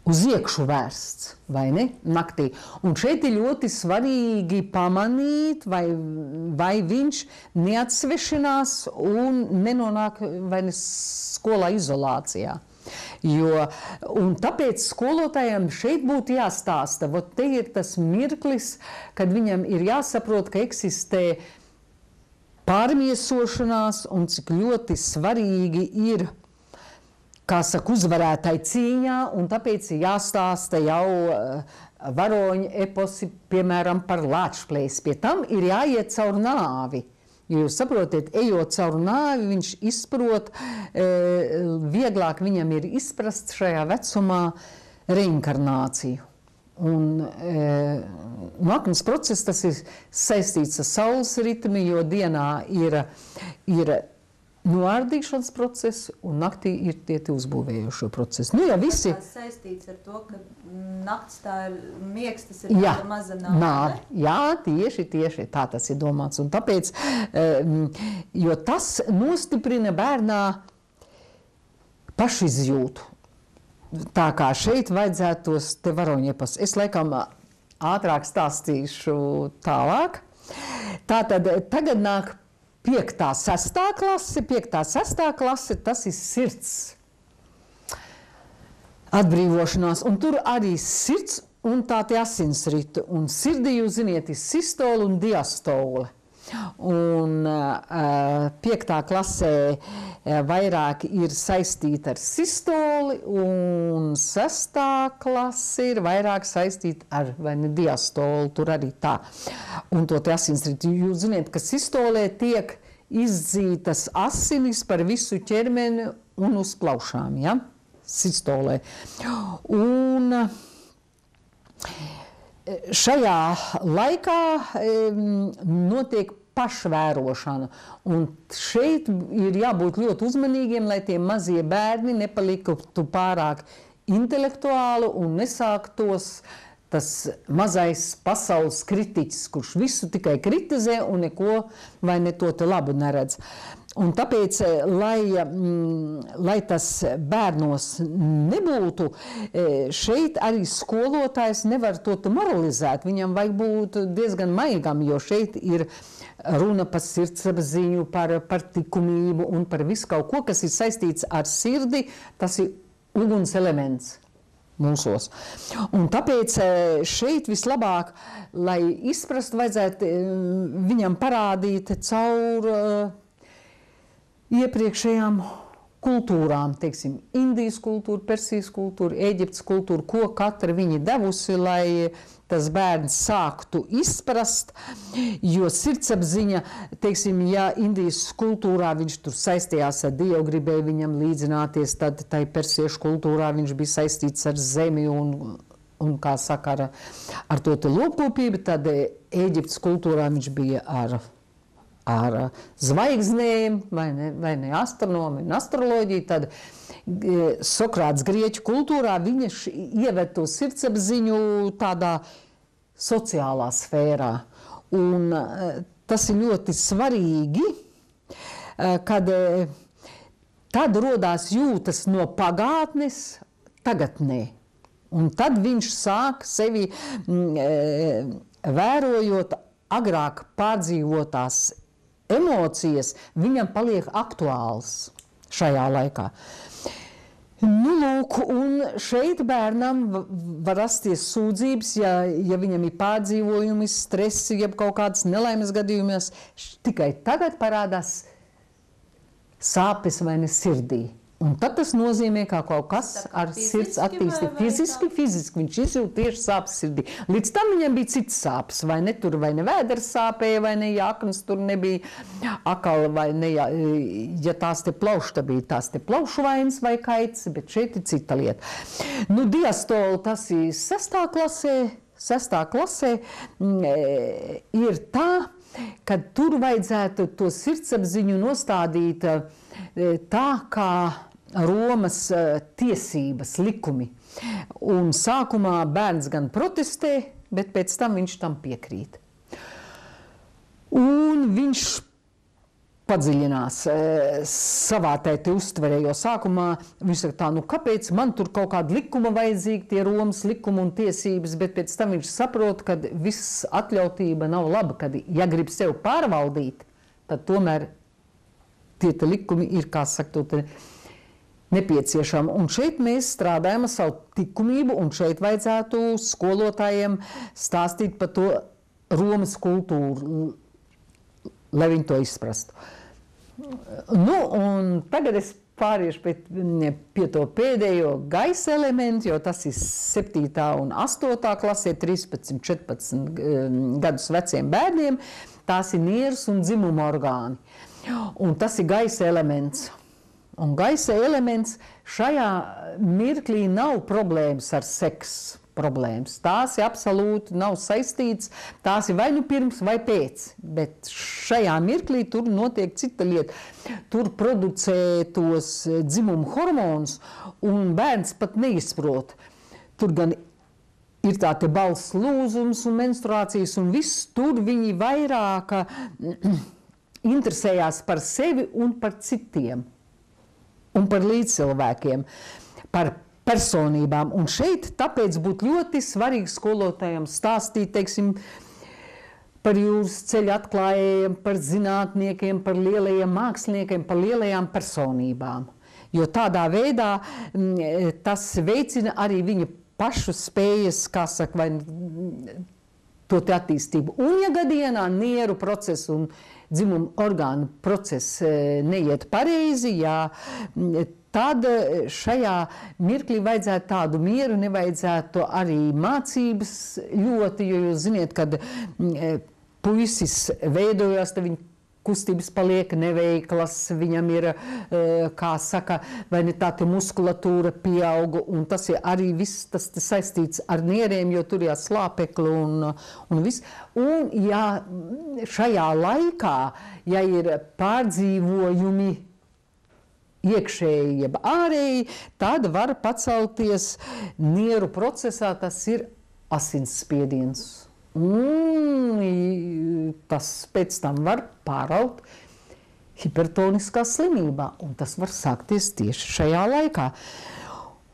uz iekšu vērsts, vai ne, naktī. Un šeit ir ļoti svarīgi pamanīt, vai, vai viņš neatsvešinās un nenonāk vai ne skolā izolācijā. Jo, un tāpēc skolotājiem šeit būtu jāstāsta, vot te ir tas mirklis, kad viņam ir jāsaprot, ka eksistē pārmiesošanās un cik ļoti svarīgi ir, kā saka, uzvarētāji cīņā, un tāpēc ir jāstāsta jau uh, varoņu eposi, piemēram, par lāčplēsi. Pie tam ir jāiet caur nāvi. Jo jūs saprotiet, ejot caur nāvi, viņš izprot, e, vieglāk viņam ir izprast šajā vecumā reinkarnāciju. Un e, nākamais process, tas ir saistīts ar saules ritmi, jo dienā ir, ir noārdīšanas procesi, un naktī ir tie uzbūvējošo procesi. Nu, ja visi... Tas saistīts ar to, ka nakts tā ir miegs, tas ir jā, maza nāve. Nāve. Jā, tieši, tieši tā tas ir domāts. Un tāpēc, jo tas nostiprina bērnā pašizjūtu. Tā kā šeit vajadzētu tos te varoņiepas. Es laikam ātrāk stāstīšu tālāk. Tātad tagad nāk Piektā, sestā klase, piektā, sestā klase, tas ir sirds atbrīvošanās, un tur arī sirds un tā tie asinsrita, un sirdī, jūs ziniet, ir sistola un diastola. Un uh, piektā klasē uh, vairāk ir saistīta ar sistoli, un sestā klase ir vairāk saistīta ar vai ne diastolu, tur arī tā. Un to te asinsriti, jūs ziniet, ka sistolē tiek izdzītas asinis par visu ķermeni un uz plaušām, ja? Sistolē. Un šajā laikā um, notiek pašvērošana, un šeit ir jābūt ļoti uzmanīgiem, lai tie mazie bērni nepaliktu pārāk intelektuāli un nesāktos tas mazais pasaules kritiķis, kurš visu tikai kritizē un neko vai ne to te labu neredz. Un tāpēc, lai, lai tas bērnos nebūtu, šeit arī skolotājs nevar to moralizēt. Viņam vajag būt diezgan maigam, jo šeit ir runa par sirdsapziņu, par, par likumību un par visu kaut ko, kas ir saistīts ar sirdi. Tas ir uguns elements mūsos. Un tāpēc šeit vislabāk, lai izprast, vajadzētu viņam parādīt caur iepriekšējām kultūrām, teiksim, Indijas kultūra, Persijas kultūra, Ēģiptes kultūra, ko katra viņa devusi, lai tas bērns sāktu izprast, jo sirdsapziņa, teiksim, ja Indijas kultūrā viņš tur saistījās ar Dievu, gribēja viņam līdzināties, tad tai persiešu kultūrā viņš bija saistīts ar zemi un, un kā saka, ar, ar to te lopkopību, tad Ēģiptes kultūrā viņš bija ar ar zvaigznēm, vai ne, vai ne astronomi un astroloģiju, tad Sokrāts grieķu kultūrā viņš ieved to sirdsapziņu tādā sociālā sfērā. Un tas ir ļoti svarīgi, kad tad rodās jūtas no pagātnes tagadnē. Un tad viņš sāk sevi vērojot agrāk pārdzīvotās emocijas, viņam paliek aktuāls šajā laikā. Nu, lūk, un šeit bērnam var rasties sūdzības, ja, ja viņam ir pārdzīvojumi, stresi, jeb kaut kādas nelaimes gadījumies. Tikai tagad parādās sāpes vai ne sirdī. Un tad tas nozīmē, kā kaut kas ar sirds attīstību. Fiziski, fiziski viņš izjūt tieši sāpes sirdī. Līdz tam viņam bija cits sāpes, vai ne tur, vai ne vēders sāpēja, vai ne jāknas tur nebija akala, vai ne, ja, ja tās te plauši, tad bija tās te plaušu vainas vai kaits, bet šeit ir cita lieta. Nu, diastoli tas ir sestā klasē, sestā klasē ir tā, ka tur vajadzētu to sirdsapziņu nostādīt tā, kā Romas tiesības, likumi. Un sākumā bērns gan protestē, bet pēc tam viņš tam piekrīt. Un viņš padziļinās savā tēti uztverē, jo sākumā viņš saka tā, nu kāpēc man tur kaut kāda likuma vajadzīga, tie Romas likumi un tiesības, bet pēc tam viņš saprot, ka viss atļautība nav laba, kad ja grib sev pārvaldīt, tad tomēr tie te likumi ir, kā saka, to nepieciešama. Un šeit mēs strādājam ar savu likumību, un šeit vajadzētu skolotājiem stāstīt par to Romas kultūru, lai viņi to izprastu. Nu, un tagad es pāriešu pie, pie to pēdējo gaisa elementu, jo tas ir septītā un astotā klasē, trīspadsmit, četrpadsmit gadus veciem bērniem. Tās ir nieras un dzimuma orgāni. Un tas ir gaisa elements. Un gaisa elements šajā mirklī nav problēmas ar seksu problēmas. Tās ir absolūti nav saistīts, tās ir vai nu pirms vai pēc, bet šajā mirklī tur notiek cita lieta. Tur producē tos dzimumu hormonus, un bērns pat neizprot. Tur gan ir tā te balss lūzums un menstruācijas, un viss tur viņi vairāk interesējās par sevi un par citiem. Un par līdzcilvēkiem, par personībām. Un šeit tāpēc būtu ļoti svarīgi skolotājiem stāstīt, teiksim, par jūras ceļa atklājējiem, par zinātniekiem, par lielajiem māksliniekiem, par lielajām personībām. Jo tādā veidā tas veicina arī viņa pašu spējas, kā saka, vai to te attīstību. Un ja gadienā nieru procesu un dzimumu orgānu process neiet pareizi, jā, tad šajā mirklī vajadzētu tādu mieru, nevajadzētu arī mācības ļoti, jo jūs ziniet, kad puisis veidojās, tad viņa kustības paliek neveiklas, viņam ir, kā saka, vai ne tā te muskulatūra pieauga, un tas ir arī viss, tas saistīts ar nieriem, jo tur jā slāpekli un, un viss. Un ja šajā laikā, ja ir pārdzīvojumi iekšēji, jeb ārēji, tad var pacelties nieru procesā, tas ir asinsspiediens. Un tas pēc tam var pāraut hipertoniskā slimībā, un tas var sākties tieši šajā laikā.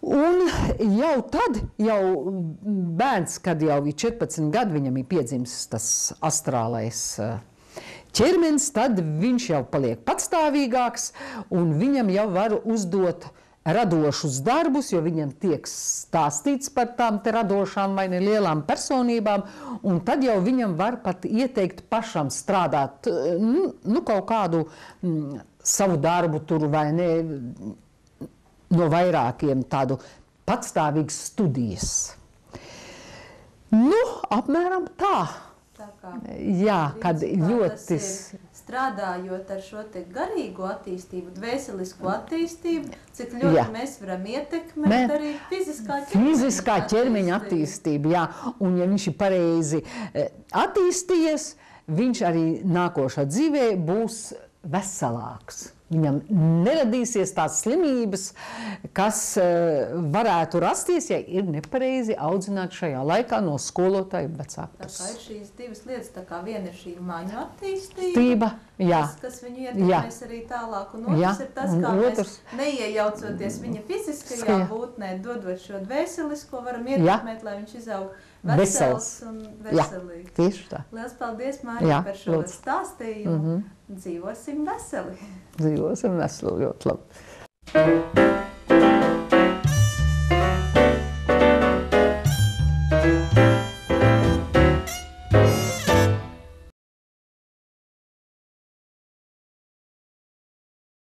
Un jau tad, jau bērns, kad jau ir četrpadsmit gadi, viņam ir piedzimis tas astrālais ķermenis, tad viņš jau paliek patstāvīgāks, un viņam jau var uzdot radošus darbus, jo viņam tiek stāstīts par tām te radošām vai ne lielām personībām, un tad jau viņam var pat ieteikt pašam strādāt, nu, nu kaut kādu mm, savu darbu tur vai ne, no vairākiem tādu patstāvīgas studijas. Nu, apmēram tā. Tā kā, jā, kad ļoti... Strādājot ar šo te garīgo attīstību, dvēselisko attīstību, cik ļoti jā. Mēs varam ietekmēt Mē, arī fiziskā ķermeņa, fiziskā ķermeņa attīstību. Jā. Un ja viņš ir pareizi attīstījies, viņš arī nākošā dzīvē būs veselāks. Viņam neradīsies tās slimības, kas varētu rasties, ja ir nepareizi audzināt šajā laikā no skolotāju vecāku puses. Tā kā ir šīs divas lietas, tā kā viena ir šī maņu attīstība, Tība, jā. Tas, kas viņu ietekmēs arī tālāk, un otrs jā. Ir tas, kā otrs. Mēs neiejaucoties viņa fiziskajā būtnē, dodot šo dvēselisko, varam ietekmēt, jā. Lai viņš izaug vesels un veselīgs. Jā, tieši tā. Lielas paldies, Mārija, par šo lūdzu. Stāstījumu. Mm-hmm. Dzīvosim veseli. Dzīvosim veseli, ļoti labi.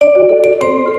Thank you.